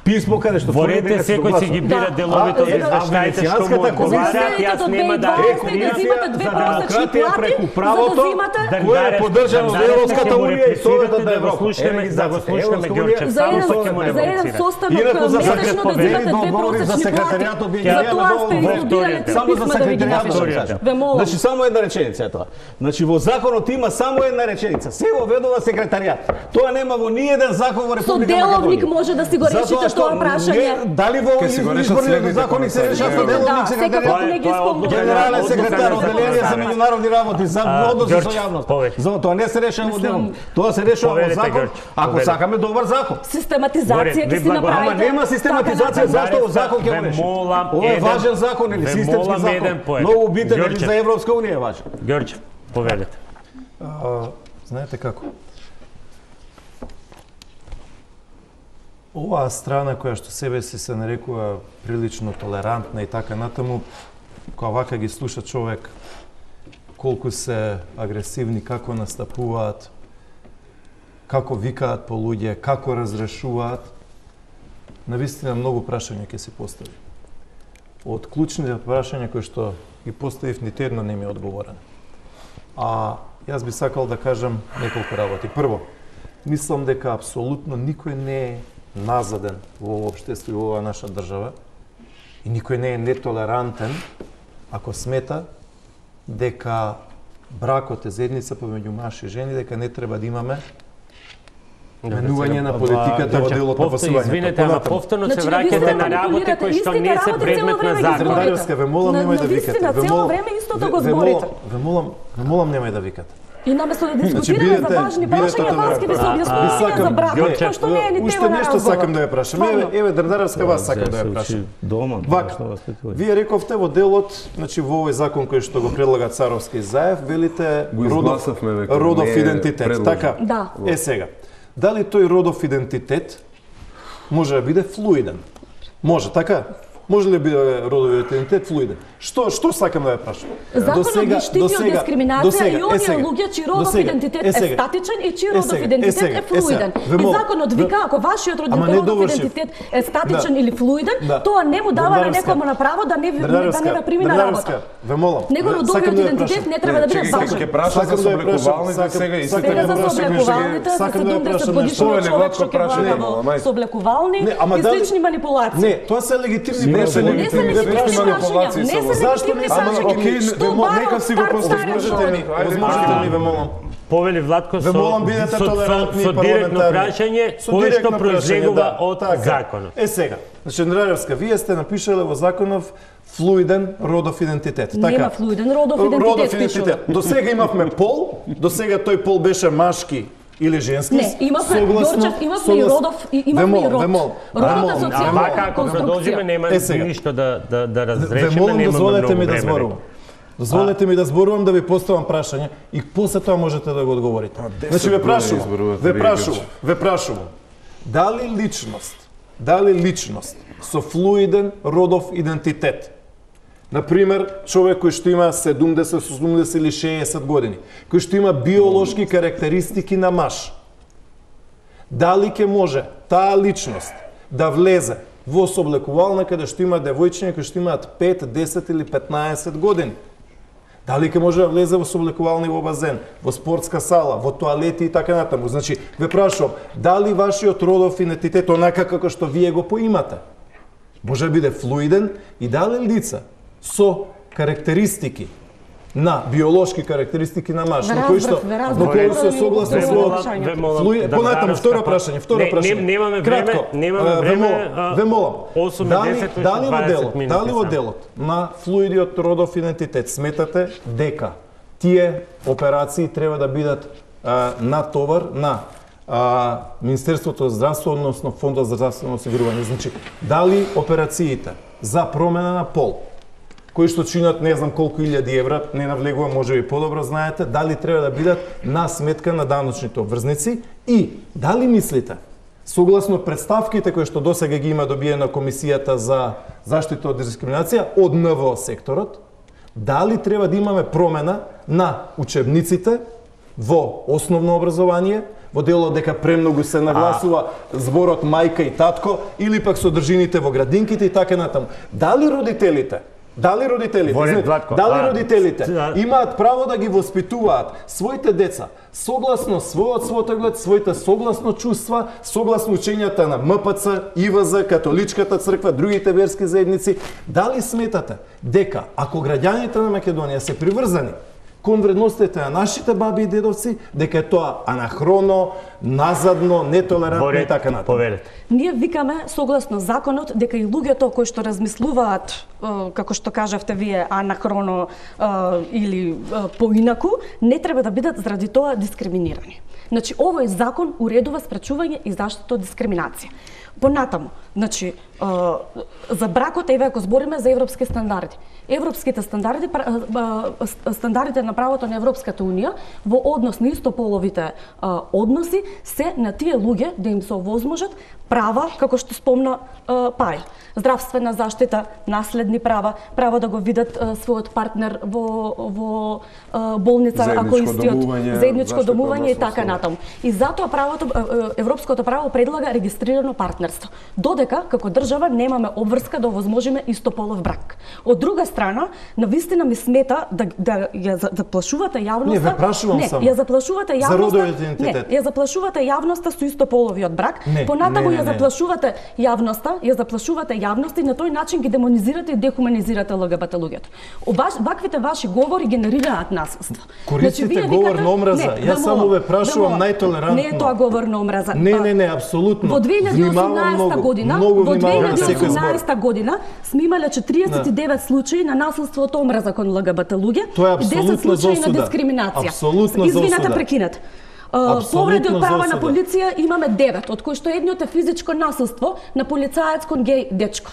писмо каде што Ворете секој си ги бира деловите од извештаите што му одговарат, јас нема да Комисија за демократија преку правото, да кој е поддржано од Европската унија и Советот на Европа. Слушаме, да го слушаме Ѓорчев, за само еден, што ќе му за еден реплицира. состанок Инаку за месечно да секретарјатот, земате две договори за просечни секретаријатот, плати. вие За ќе тоа ја сте дадовте изобилени три само за писма да ви ги секретаријатот напишам. да кажам. Ве молам. Значи само една реченица е тоа. Значи во законот има само една реченица. Се воведува секретаријат. Тоа нема во ниеден закон во Со Република деловник Македонија. може да си го решите тоа прашање. Не, дали во Ке си го решат изборниот следните закони се решава со комесари. деловник Да, секретаријат? секако не ги исполнува. Генерален секретар, одделение за меѓународни работи, за односи со Ѓорче, јавност. повеќе. За тоа не се решава во Мислам, деловник. Тоа се решава во повелете, закон, Ѓорче, ако повелете. сакаме добар закон. Систематизација Горе, ќе ви си благо- направите. Ама нема систематизација, зашто во закон ќе Ве го реши? молам Ова е еден- важен закон или ве системски молам закон. еден поет. Многу битен или Ѓорче. за Европска унија е важен. Ѓорче, повелете. А, знаете како? Оваа страна која што себе си се нарекува прилично толерантна и така натаму, кога вака ги слуша човек колку се агресивни, како настапуваат, како викаат по луѓе, како разрешуваат, навистина многу прашања ќе се постави. Од клучните прашања кои што ги поставив, ниту едно не ми е одговорено. А јас би сакал да кажам неколку работи. Прво, мислам дека апсолутно никој не е назаден во ова општество и во оваа наша држава и никој не е нетолерантен ако смета дека бракот е заедница помеѓу маж и жени, дека не треба да имаме менување на политиката во делот на Повтор, посувањето. извинете, ама повторно се Значи, враќате вие на работи манипулирате кои што истите не се работи, предмет цело на време ги закон. зборите. Здрдаревска, ве молам На- немај да на викате. вистина, Ве цело молам- време истото ве- го ве зборите. молам- Ве молам, ве молам немај да викате. И наместо да Значи, дискутираме за бидете- важни бидете прашања, вас ќе ви се толерантни. објаснување за брак, Ѓорче, кој што не е ни Уште тема на нешто разговор. сакам да ја прашам. Еве, еве Дрдаревска, вас сакам да ја прашам. Дома, Вака, вие рековте во делот, значи во овој закон кој што го предлага Царовски и Заев, велите Го родов, изгласавме веќе, родов не е идентитет. предложен. Така, Да. е сега. Дали тој родов идентитет може да биде флуиден? Може, така? Може ли да биде родов идентитет флуиден? Што што сакам да ја прашам? Законот ги штити од дискриминација и оние сега, луѓе чиј до родов сега, идентитет е е сега, статичен и чиј е родов сега, е идентитет сега, е е сега. флуиден. Ве И молам, законот ве- вика ако вашиот Ама не родов довршив. идентитет е статичен Да. или флуиден, Да. тоа не му дава на Дрдаревска. некому на право да не да Дрдаревска, не да прими на Дрдаревска, работа. ве молам. Неговиот Сакам родовиот да ја идентитет прашам. не треба да биде Чекај, важен. ќе праша Сакам за да ја прашам, соблекувалните сакам- сега и сакам сите Сега да за ја прашам соблекувалните, за Сакам да ја седумдесет прашам годишниот Тоа е човек легатко што ќе прашање, влага молам, во ајде. соблекувални Не, ама и дали- слични манипулации. Не, тоа се легитимни Не прашања. се Не се легитимни легитимни манипулации прашања, не со се Зашто легитимни не се Ама, прашања. окей, Што ве молам, барам нека си го стар возможете старен ми, човек? возможете ми, ве молам. Повели Владко Ве со, молам, бидете со, со, толерантни и со директно парламентарни. прашање, Со кој што директно произлегува прашање, да, од така. законот. Е сега, значи Дрдаревска, вие сте напишале во законов флуиден родов идентитет, така? Нема флуиден родов идентитет, пишува. До сега имавме пол, до сега тој пол беше машки или женски. Не, имавме, согласно- Ѓорчев, имавме и согласно- родов, и Ве имавме и молам, род. ве молам. Родот Ве е молам, А социјална вака, ако продолжиме, конструкција. нема Е, сега. ништо да, да, да Ве разрешиме, молам, немаме дозволете многу ми да време. зборувам. Дозволете ми да зборувам, да ви поставам прашање и после тоа можете да го одговорите. Значи ве години прашувам, изборувате ве вие, прашувам, Ѓорче. ве прашувам. Дали личност, дали личност со флуиден родов идентитет, например, човек кој што има седумдесет, осумдесет или шеесет години, кој што има биолошки карактеристики на маж, дали ќе може таа личност да влезе во соблекувална каде што има девојчиња кои што имаат пет, десет или петнаесет години? Дали ќе може да влезе во соблекувални во базен, во спортска сала, во тоалети и така натаму? Значи, ве прашувам, дали вашиот родов идентитет онака како што вие го поимате, може да биде флуиден и дали лица со карактеристики на биолошки карактеристики на маж, Ве на кои што разбрав, ве разбрав. на кои се Ве согласни Ве со молам, ве молам, Флуи- да понатаму, дадам второ стапа. прашање, второ Не, прашање. не- немаме време, Кратко, немаме а, ве време, молам, а, ве молам. осум и Дали, десет, дали во дваесет делот, минути дали во само. делот на флуидиот родов идентитет сметате дека тие операции треба да бидат а, натовар на а, Министерството за здравство, односно Фондот за здравствено осигурување. Значи, дали операциите за промена на пол, кои што чинат не знам колку илјади евра, не навлегувам, може би подобро знаете, дали треба да бидат на сметка на даночните обврзници и дали мислите, согласно представките кои што досега ги има добиена Комисијата за заштита од дискриминација од Н В О секторот, дали треба да имаме промена на учебниците во основно образование, во делот дека премногу се нагласува зборот мајка и татко или пак содржините во градинките и така натаму. Дали родителите Дали родителите, Воре, знаете, Владко, дали а, родителите да. имаат право да ги воспитуваат своите деца согласно својот светоглед, своите согласно чувства, согласно учењата на М П Ц, И В З, католичката црква, другите верски заедници? Дали сметате дека ако граѓаните на Македонија се приврзани кон вредностите на нашите баби и дедовци, дека е тоа анахроно, назадно, нетолерантно и така натаму? Повелете. Ние викаме согласно законот дека и луѓето кои што размислуваат, како што кажавте вие, анахроно или поинаку, не треба да бидат заради тоа дискриминирани. Значи, овој закон уредува спречување и заштита од дискриминација. Понатаму, значи, за бракот, еве ако збориме за европски стандарди. Европските стандарди, стандардите на правото на Европската унија во однос на истополовите односи се на тие луѓе да им се овозможат права, како што спомна Пај. Здравствена заштита, наследни права, право да го видат својот партнер во во болница, ако истиот заедничко домување и така натаму. И затоа правото европското право предлага регистрирано партнерство. Додека како држава немаме обврска да овозможиме истополов брак. Од друга страна, навистина ми смета да да ја заплашувате јавноста. Не, ве прашувам не, само. ја заплашувате јавноста. За родовиот идентитет. Не, ја заплашувате јавноста со истополовиот брак. Не, Понатаму не, не, ја заплашувате јавноста, ја заплашувате јавноста и на тој начин ги демонизирате и дехуманизирате Л Г Б Т луѓето. Ваквите ваши говори генерираат насилство. Користите Значи, говор викате, на омраза. не, Јас само ве прашувам најтолерантно. Не е тоа говор на омраза. Не, не, не, апсолутно. Во две илјади и осумнаесета година, многу во две внимавам илјади и секој збор. осумнаесета година сме имале четириесет и девет случаи на насилство од омраза кон Л Г Б Т луѓе Тоа е и десет апсолутно за случаи на осуда. дискриминација. Апсолутно за Извинете, осуда. прекинат. Апсолутно Повреди од за права на осуда. полиција имаме девет, од кои што едниот е физичко насилство на полицаец кон геј дечко.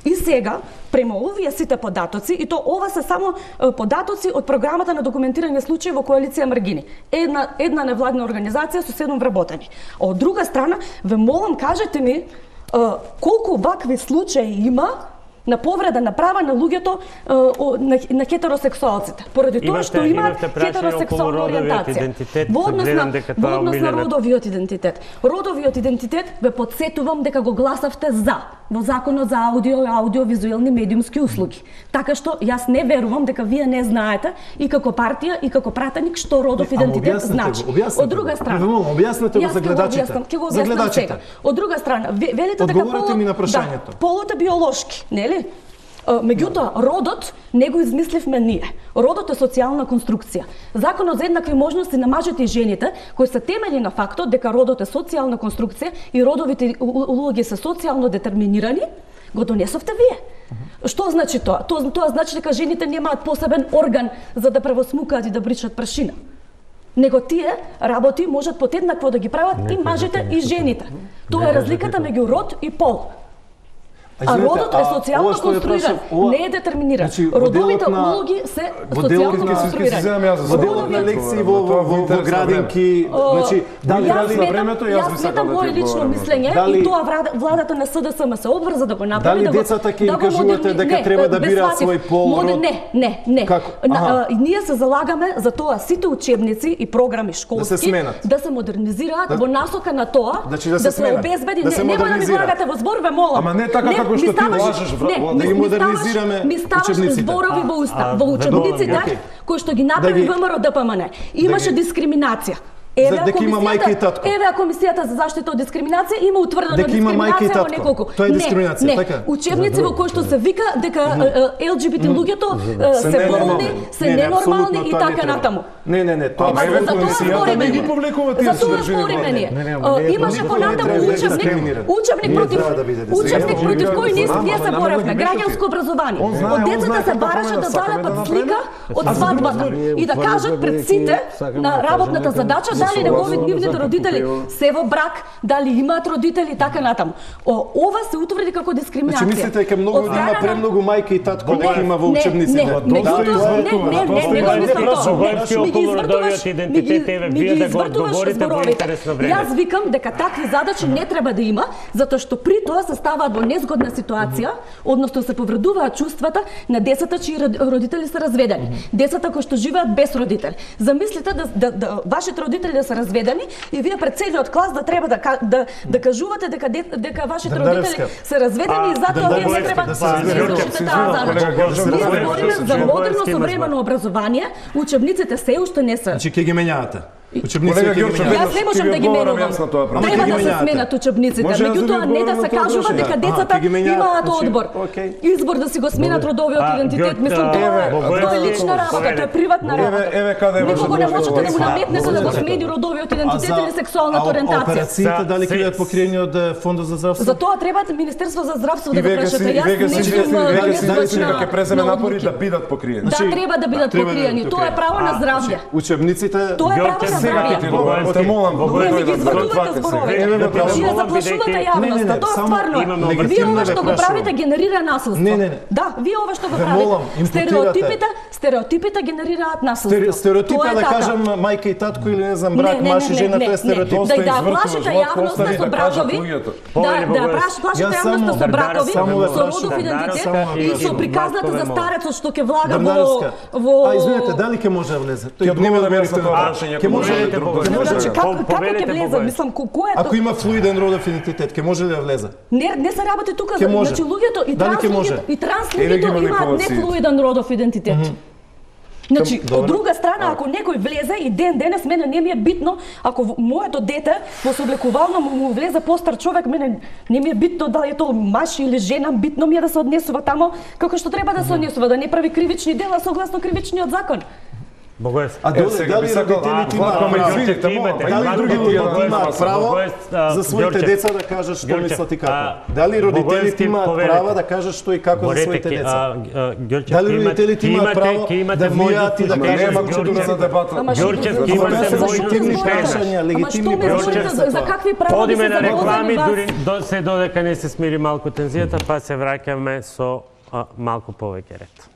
И сега, према овие сите податоци, и то ова се само е, податоци од програмата на документирање случаи во коалиција Маргини. Една една невладна организација со седум вработени. А од друга страна, ве молам, кажете ми е, колку вакви случаи има на повреда на права на луѓето на, на хетеросексуалците, поради тоа што имаат хетеросексуална ориентација. Во однос на, во однос на родовиот идентитет. Родовиот идентитет ве подсетувам дека го гласавте за во Законот за аудио и аудиовизуелни медиумски услуги. Така што јас не верувам дека вие не знаете и како партија и како пратеник што родов идентитет значи. Од друга страна, објаснете го за гледачите. За гледачите. Од друга страна, велите дека полот, ми на прашањето. Да, полот е биолошки, нели? Меѓутоа, родот не го измисливме ние. Родот е социјална конструкција. Законот за еднакви можности на мажите и жените, кои се темели на фактот дека родот е социјална конструкција и родовите улоги се социјално детерминирани, го донесовте вие. Што значи тоа? Тоа, тоа значи дека жените немаат посебен орган за да превосмукаат и да бричат прашина. Него тие работи можат подеднакво да ги прават и мажите и жените. Тоа е разликата меѓу род и пол. А родот е социјално конструиран, не е детерминиран. Родовите улоги се социјално конструирани. Во делот на лекции во во градинки, значи дали дали на времето јас би сакал да ти лично мислење и тоа владата на С Д С М се обврза да го направи, да го децата ќе им кажувате дека треба да бираат свој пол. Не, не, не. Ние се залагаме за тоа сите учебници и програми школски да се модернизираат во насока на тоа да се обезбеди, не да ми влагате во збор, ве молам. Ама не така како што ти лажеш, да ги модернизираме учебниците. Ми ставаш зборови во уста, во учебниците кои што ги направи Вэ М Р Д П М Н. Имаше дискриминација. Еве дека има мајка и татко. Еве Комисијата за заштита од дискриминација има утврдено дискриминација во неколку. Тоа е дискриминација, така? Учебници во кои што се вика дека Л Г Б Т луѓето се болни, се ненормални и така натаму. Не, не, не, тоа еве Комисијата не ги публикува тие содржини. Имаше понатаму учебник, учебник против учебник против кој ние се боравме, граѓанско образование. Од децата се бараше да залепат слика од свадбата и да кажат пред сите на работната задача дали негови нивните родители се во брак, дали имаат родители и така натаму. Ова се утврди како дискриминација. Значи мислите дека многу има премногу мајка и татко дека има во учебниците? Не, не, не, не, не, не мислам тоа. Ми ги извртуваш зборовите. Јас викам дека такви задачи не треба да има, затоа што при тоа се ставаат во незгодна ситуација, односно се повредуваат чувствата на децата чии родители се разведени. Децата кои што живеат без родители. Замислите да вашите родители родители да се разведени и вие пред целиот клас да треба да да, да кажувате дека дека вашите родители се разведени и затоа вие не треба да се разведете таа задача. Ние говориме за модерно современо образование, учебниците се уште не се. Значи ќе ги менјавате. Учебниците ќе ги менјавате. Јас не можам да ги менувам. Треба да се сменат учебниците, меѓутоа не да се кажува дека децата имаат одбор. Избор да си го сменат родовиот идентитет, мислам тоа е лична работа, тоа е приватна работа. Еве каде е Никого не можете да му наметнете да го смени родовиот идентитет или сексуалната ориентација. Операциите дали ќе бидат покриени од Фондот за здравство? За тоа треба Министерство за здравство да го прашате. Јас не сум дека ќе преземе напори да бидат покриени. Да, треба да бидат покриени. Тоа е право на здравје. Учебниците Тоа е право на здравје. Те молам, Вие ги зборувате зборовите. Вие заплашувате јавноста. Тоа стварно. Вие ова што го правите генерира насилство. Не, не, не. Да, вие ова што го правите. Стереотипите, стереотипите генерираат насилство. Стереотипа да кажам мајка и татко или не знам брак, маж и жена, тоа е стереотип. Да да плашите јавноста со бракови. Да, да плашите јавноста со бракови, со родов идентитет и со приказната за старецот што ќе влага во во А извинете, дали ќе може да влезе? Тој нема да мерите тоа прашање. Ќе може ли Значи, како ќе влезе? Мислам, кој е тоа? Ако има флуиден родов идентитет, ќе може ли да влезе? Не, не се работи тука. Значи, луѓето и транс луѓето и транс луѓето имаат нефлуиден родов идентитет. Значи, од друга страна, ако некој влезе и ден денес мене не ми е битно, ако моето дете во сооблекувално му влезе постар човек, мене не ми е битно дали е тоа маж или жена, битно ми е да се однесува тамо како што треба да се однесува, да не прави кривични дела согласно кривичниот закон. Богојс. А дали родителите имаат дали другите имаат право за своите деца да кажат што мислат и како? Дали родителите имаат право да кажат што и како за своите деца? Дали родителите имаат право да влијаат и да кажат што за дебата? Ѓорчев, имате легитимни прашања, легитимни прашања. За какви права? Одиме на реклами, дури се додека не се смири малку тензијата, па се враќаме со малку повеќе ред.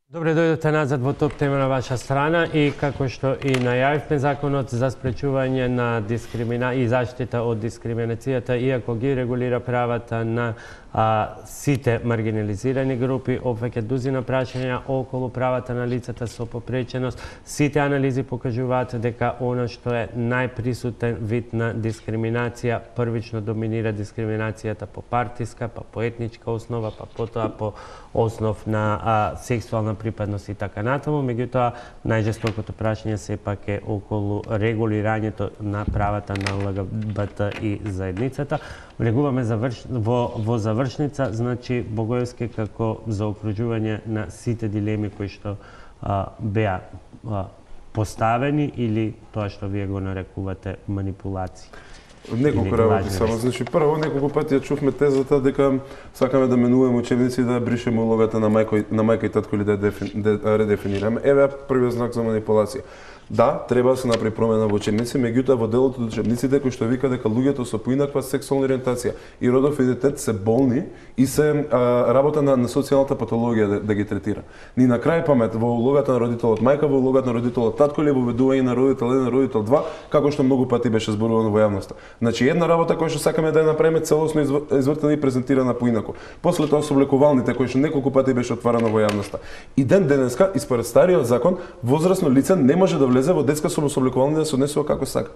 Добре дојдете назад во топ тема на ваша страна и како што и најавивме, законот за спречување на дискримина и заштита од дискриминацијата, иако ги регулира правата на а, сите маргинализирани групи, опфаќа дузина прашања околу правата на лицата со попреченост. Сите анализи покажуваат дека она што е најприсутен вид на дискриминација, првично доминира дискриминацијата по партиска, па по етничка основа, па потоа по основ на а, сексуална припадност и така натаму. Меѓутоа, најжестокото прашање сепак е околу регулирањето на правата на Л Г Б Т и заедницата. Влегуваме заврш... во, во завршница, значи Богојевски како заокружување на сите дилеми кои што а, беа а, поставени или тоа што вие го нарекувате манипулации. Неколку работи само. Значи, прво, неколку пати ја чувме тезата дека сакаме да менуваме учебници и да бришеме улогата на мајка, на мајка и татко или да дефин, да редефинираме. Еве првиот знак за манипулација. Да, треба да се направи промена во учебници, меѓутоа во делот од учебниците кој што вика дека луѓето со поинаква сексуална ориентација и родов идентитет се болни и се а, работа на, на социјалната патологија да, да ги третира. Ни на крај памет во улогата на родителот мајка, во улогата на родителот татко или во ведување на родител еден, родител два, како што многу пати беше зборувано во јавноста. Значи една работа која што сакаме да ја направиме целосно извртена и презентирана поинаку. После тоа соблекувалните кои што неколку пати беше отварано во јавноста. И ден денеска, испоред стариот закон, возрасно лице не може да влезе во детска самособлекувални да се однесува како сака.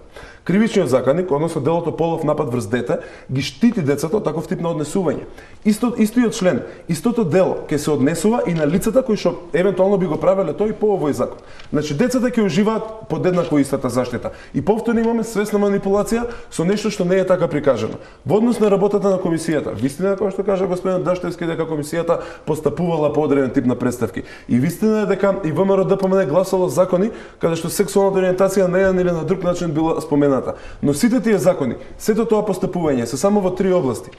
Кривичниот законник, односно делото полов напад врз дете, ги штити децата од таков тип на однесување. Исто, истиот член, истото дело ќе се однесува и на лицата кои што евентуално би го правеле тој по овој закон. Значи децата ќе уживаат под еднакво истата заштита. И повторно имаме свесна манипулација со нешто што не е така прикажано. Во однос на работата на комисијата, вистина како што кажа господин Даштевски дека комисијата постапувала по одреден тип на представки. И вистина е дека и Вэ М Р Д П М Н гласало закони каде што сексуалната ориентација на еден или на друг начин била спомената. Но сите тие закони, сето тоа постапување се само во три области.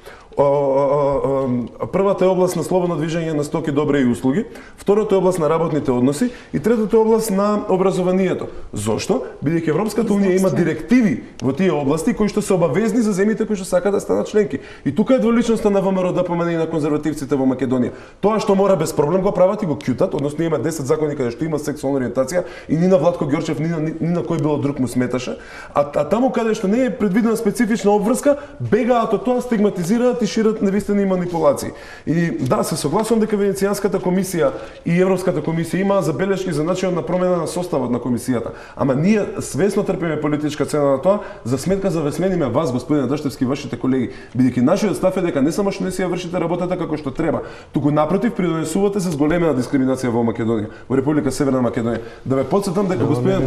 Првата е област на слободно движење на стоки, добри и услуги, втората е област на работните односи и третата е област на образованието. Зошто? Бидејќи Европската унија има директиви во тие области кои што што се обавезни за земјите кои што сакаат да станат членки. И тука е дволичноста на ВМРО ДПМН и на конзервативците во Македонија. Тоа што мора без проблем го прават и го кјутат, односно има десет закони каде што има сексуална ориентација и ни на Владко Ѓорчев, ни на, ни, ни на кој било друг му сметаше, а, а таму каде што не е предвидена специфична обврска, бегаат од тоа, стигматизираат и шират невистини манипулации. И да, се согласувам дека Венецијанската комисија и Европската комисија имаа забелешки за начинот на промена на составот на комисијата. Ама ние свесно трпиме политичка цена на тоа за сметка за весмениме вас, господине Даштевски, вашите колеги, бидејќи нашиот став е дека не само што не си ја вршите работата како што треба, туку напротив придонесувате се зголемена дискриминација во Македонија, во Република Северна Македонија. Да ве потсетам дека господин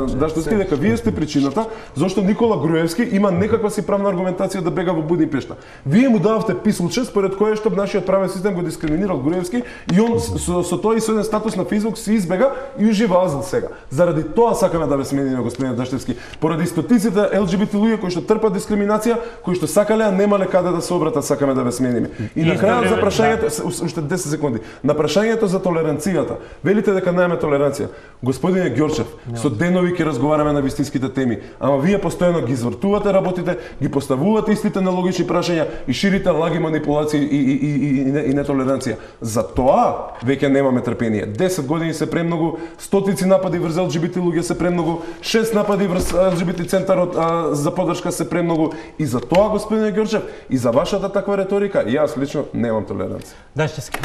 Даштовски дека вие сте причината зошто Никола Груевски има некаква си правна аргументација да бега во Будимпешта. Вие му дававте писулче според кое што нашиот правен систем го дискриминирал Груевски и он со, со тој и со еден статус на Фейсбук се избега и ужива азил сега. Заради тоа сакаме да ве смениме, господин Даштевски, поради стотиците ел џи би ти луѓе кои што трпат дискриминација, кои што сакале, а немале каде да се обратат, сакаме да ве смениме. И на крајот за прашањето, уште десет секунди, на прашањето за толеранцијата, велите дека немаме толеранција. Господине Ѓорчев, со денови ќе разговараме на вистинските теми, ама вие постојано ги извртувате работите, ги поставувате истите нелогични прашања и ширите лаги, манипулации и, и, и, и, и, и нетолеранција. За тоа веќе немаме трпение. десет години се премногу, стотици напади врз ел џи би ти луѓе се премногу, шест напади врз ел џи би ти центарот а, за поддршка се премногу и за тоа, господине Ѓорчев, и за вашата таква реторика, јас лично немам толеранција.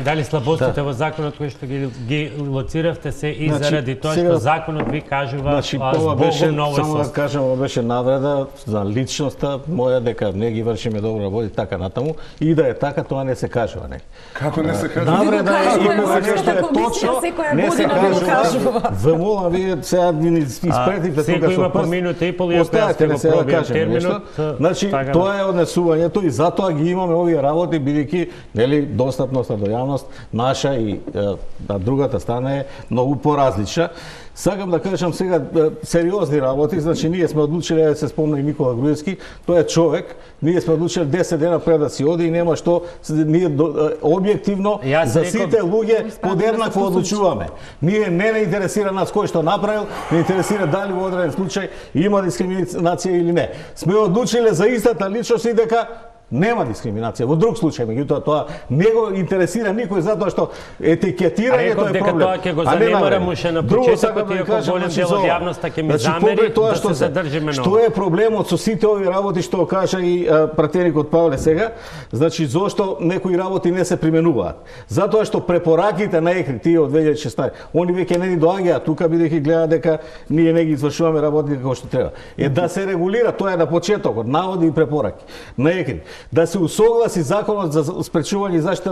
Дали слабостите во законот кои што ги, ги лоциравте се и Значи, заради тоа сега- што законот ви кажува Значи, ова беше, збогом новој само да состав. кажем, ова беше навреда за личноста моја дека не ги вршиме добра работа и така натаму, и да е така, тоа не се кажува, не. Како не се кажа? Навреда е кажува има Европската нешто е комисија, точно, секоја не се година го кажува. кажува. Ве молам, вие сега ни испретите секој тука има со по прст. минута и пол, иако јас Оставете ќе ме го сега да пробијам кажем терминот, нешто. Значи, така да. тоа е однесувањето и затоа ги имаме овие работи, бидејќи нели достапноста до јавност наша и е, на другата страна е многу поразлична. Сакам да кажам сега е, сериозни работи, значи ние сме одлучили да се спомна и Никола Груевски, тој е човек, ние сме одлучили десет дена пред да си оди и нема што ние до, е, објективно Јас за реков- сите луѓе подеднакво одлучуваме. Ние не не интересира нас кој што направил, не интересира дали во одреден случај има дискриминација или не. Сме одлучиле за истата личност и дека нема дискриминација. Во друг случај, меѓутоа тоа не го интересира никој затоа што етикетирањето реков е дека проблем. тоа ќе го а не занемарам навреме. уште на Друго почетокот, сакам да ви иако кажам, голем значи, дел за од ова. јавноста ќе ми Значи, замери покрај тоа да што се се задржиме Што ново. е проблемот со сите овие работи што кажа и а, пратеникот Павле сега? Значи зошто некои работи не се применуваат? Затоа што препораките на ЕКРИ тие од две илјади и шеснаесета, они веќе не ни доаѓаат тука бидејќи гледаат дека ние не ги извршуваме работите како што треба. Е да се регулира, тоа е на почетокот, наводи и препораки на ЕКРИ. Да се усогласи законот за спречување и заштита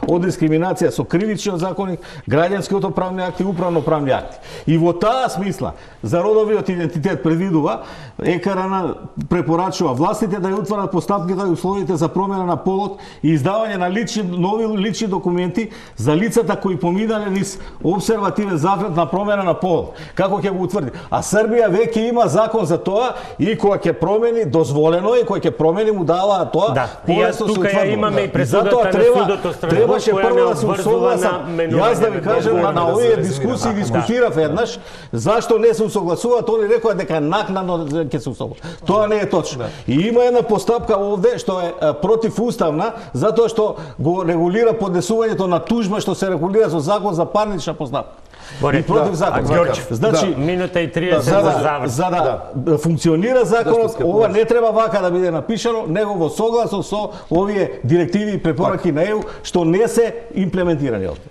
од дискриминација со кривичниот законник, граѓанскиот правни акти и управно правни акти. И во таа смисла за родовиот идентитет предвидува ЕКРН препорачува властите да ја утварат постапките и условите за промена на полот и издавање на лични нови лични документи за лицата кои поминале низ обсервативен зафет на промена на полот. Како ќе го утврди? А Србија веќе има закон за тоа и кога ќе промени дозволено е, кога ќе промени му даваат тоа. Да, и јас полесно се тука ја утврдува. имаме и И пресудата затоа на треба, судот од Страсбург, требаше која прво не да се обврзува усогласам. на Јас да ви менување кажам на на, на да овие се дискусии резимира. дискутирав еднаш, зашто не се усогласуваат, они рекоа дека накнадно ќе се усогласуваат. Тоа не е точно. И има една постапка овде што е а, противуставна, затоа што го регулира поднесувањето на тужба што се регулира со закон за парнична постапка. Боре, И против да, закон. а Ѓорчев, Значи, минута и да, триесет за за да, завршок. за да, да функционира законот, Даштовски ова не треба вака да биде напишано, него во согласно со овие директиви и препораки на ЕУ што не се имплементирани овде.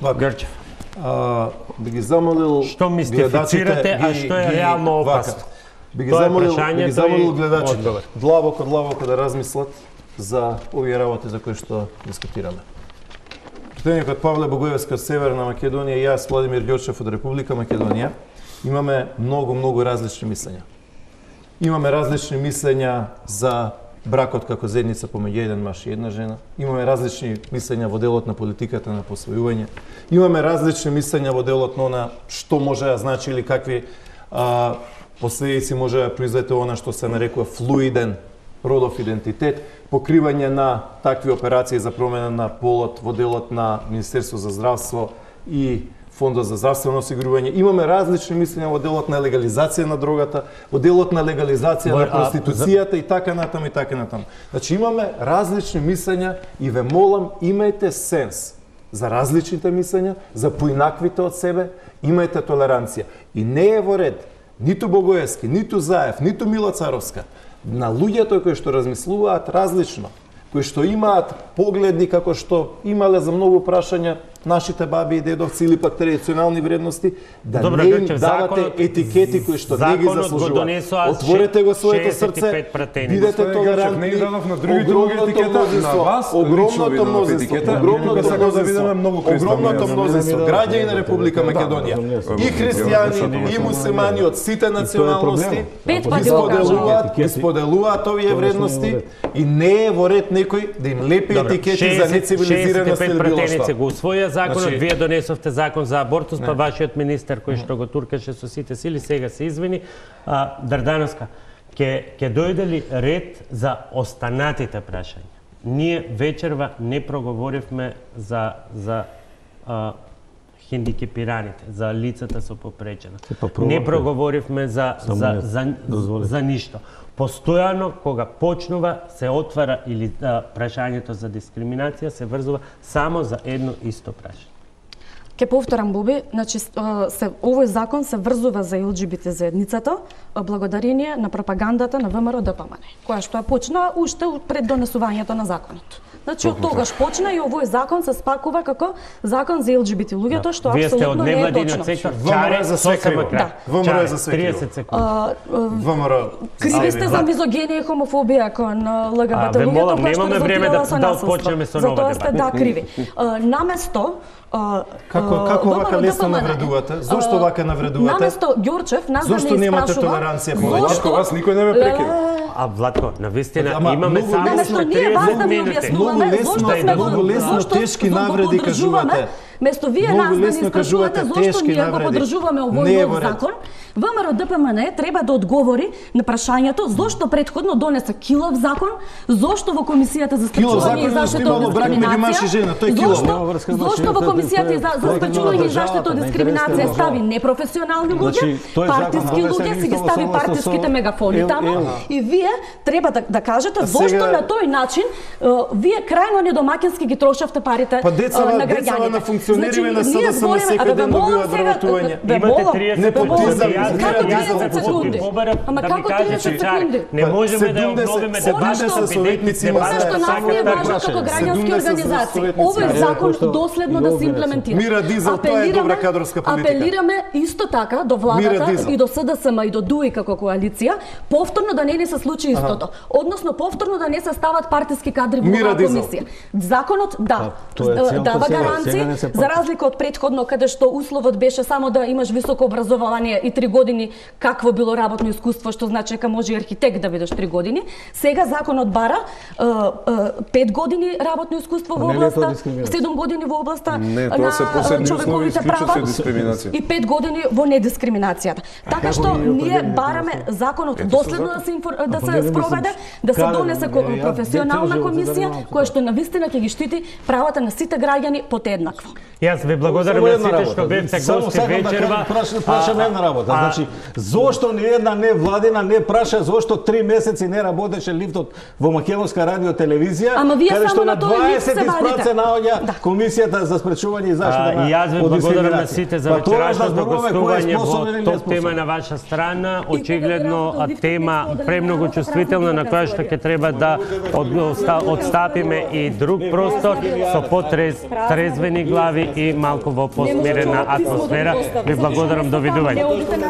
Ѓорчев, А, би ги замолил Што мистифицирате, а што е реално опасно? Би ги Тоа е замолил, би прашањето ги замолил и гледачите одговор. длабоко, длабоко да размислат за овие работи за кои што дискутираме. Пратеникот Павле Богоевски од Северна Македонија и јас, Владимир Ѓорчев од Република Македонија, имаме многу, многу различни мислења. Имаме различни мислења за бракот како заедница помеѓу еден маж и една жена. Имаме различни мислења во делот на политиката на посвојување. Имаме различни мислења во делот на она што може да значи или какви а, последици може да произлете она што се нарекува флуиден родов идентитет, покривање на такви операции за промена на полот во делот на Министерство за здравство и Фондот за здравствено осигурување. Имаме различни мислења во делот на легализација на дрогата, во делот на легализација Во- на а, проституцијата и така натаму и така натаму. Значи имаме различни мислења и ве молам, имајте сенс за различните мислења, за поинаквите од себе, имајте толеранција. И не е во ред ниту Богоевски, ниту Заев, ниту Мила Царовска, на луѓето кои што размислуваат различно, кои што имаат погледи како што имале за многу прашања нашите баби и дедовци или пак традиционални вредности, да Добро, не им Грчев, давате законот- етикети кои што не ги законот го заслужуваат. донесоа Отворете го своето шеесет и срце, пет пратеници. бидете Господи, Грчев, толерантни. не ги дадов на другите Огромното етикета, на мнозинство, вас лично ви огромното дадов мнозинство, етикета. огромното Ние сакаме да мнозинство, видиме многу кристални огромното јазови. мнозинство Да, граѓани да, на Република да, Македонија да, да, и да, христијани, да, и муслимани од сите националности Пет ги пати го споделуваат, кажа. ги споделуваат овие вредности и не е во ред некој да им лепи Добро, етикети за нецивилизираност шеесет и пет или било пратеници што. го усвоја законот, Значи- вие донесовте закон за абортус, па вашиот министер кој што го туркаше со сите сили, сега се извини. А, Дрдановска, ќе ќе дојде ли ред за останатите прашања? Ние вечерва не проговоривме за за а, хендикепираните, за лицата со попречена. па пробавте. Не проговоривме за Само за не за, дозволите. за ништо. Постојано кога почнува се отвара или а, прашањето за дискриминација се врзува само за едно исто прашање. Ке повторам, Боби, значи с- а, се овој закон се врзува за Ел Џи Би Те заедницата а, благодарение на пропагандата на ВМРО Д П М Н, која што ја почна уште пред донесувањето на законот. Значи од тогаш почна и овој закон се спакува како закон за Ел Џи Би Те луѓето, што Вие сте од апсолутно не е невладиниот точно. сектор. ВМРО е за све сосема криво. крај. Да. ВМРО е за Чаре, све криво. триесет секунди. А, а, ВМРО. Криви сте за мизогенија и хомофобија кон а, Л Г Б Т А, ве луѓето, молам, која што немаме време резултирала да- со да насилство. отпочнеме со нова Затоа сте дебата. да криви. А, Наместо а, Како а, како вака ВМРО лесно Д П М Н, навредувате? а, Зошто вака навредувате? Наместо Ѓорчев нас да Зошто не немате испрашува, толеранција по зошто- Владко, вас никој не ме прекина. А Владко, навистина Ама, имаме многу само лесно- уште Наместо ние вас да триесет ми минути. објаснуваме Многу лесно- зошто сме го многу лесно зошто тешки го навреди поддржуваме, кажувате. Место вие Многу нас да ни лесно испрашувате кажувате зошто тешки ние го навреди. поддржуваме Не овој е нов во ред. закон, ВМРО Д П М Н треба да одговори на прашањето зошто претходно донесе килов закон, зошто во комисијата за Килов закон спречување и е заштита имало од брак меѓу дискриминација. маж и жена, тој е килов. Зошто, Нема врска, значи, зошто во тоа е- комисијата за, за тоа е спречување и државата, заштита од на дискриминација интересите стави на непрофесионални луѓе, Значи, тој закон партиски донесен луѓе, си ги исто стави во согласност партиските со- мегафони Ел- таму ел- и вие треба да, да кажете А зошто сега- на тој начин е, вие крајно недомакински ги трошавте парите Па децава- е, на децава граѓаните. на функционериве на ние СДСМ збориме, секој а да ве ден молам добиваат сега, вработување. ве Имате молам, триесет ве молам, Непотизам, секунди. избира како да триесет ги секунди? Побарам Ама да како ми кажете, триесет Чаре, секунди? не Па, можеме да ја седумдесет обновиме седумдесет дебата. советници има Она што знаете, нас не е така важно прашање. како граѓански седумдесет организации. советници. Овој Е, закон кој што доследно и да се овде имплементира. Мира Дизел, тоа е добра кадровска политика. Апелираме исто така до Мира владата Дизел. и до С Д С М и до ДУИ како коалиција, повторно да не ни се случи истото. Односно повторно да не се стават партиски кадри во Мира оваа Дизел. комисија. Законот да тоа е целото дава сега, гаранции сега не се за разлика од претходно каде што условот беше само да имаш високо образование и три години какво било работно искуство, што значи дека може и архитект да бидеш три години. Сега законот бара е, е, пет години работно искуство во Не ли е тоа областа, дискриминација? седум години во областа Не, тоа на се посебни услови, човековите исклучат права се дискриминација. и пет години во недискриминацијата. Така како што ги ние определени бараме тоа? законот Ето доследно со да се инфор- да Па се не, не мислам, спроведе, да се каде, донесе не, ко- ја професионална детално комисија занимавам која со што навистина ќе ги штити правата на сите граѓани подеднакво. Јас ви благодарам Само на една сите работа. што бевте Само гости сакам да вечерва. кажам, прашам, прашам А, една работа. а, Значи, зошто ни една невладина не праша зошто три месеци не работеше лифтот во Македонска радио телевизија, Ама вие каде само што на на тој лифт дваесет се вадите. испраце наоѓа Да. комисијата за спречување и заштита А, на и јас ви од благодарам на дискриминација. сите за Па тоа е да вечерашното зборуваме кој е гостување способен или во не топ тема способен. на ваша страна. И Очигледно кога ви тема разговор, премногу разговор, чувствителна на која што ќе треба да од- одстапиме и друг простор со потрезвени глави и малку во посмирена атмосфера. Ви благодарам, довидување. Не одите на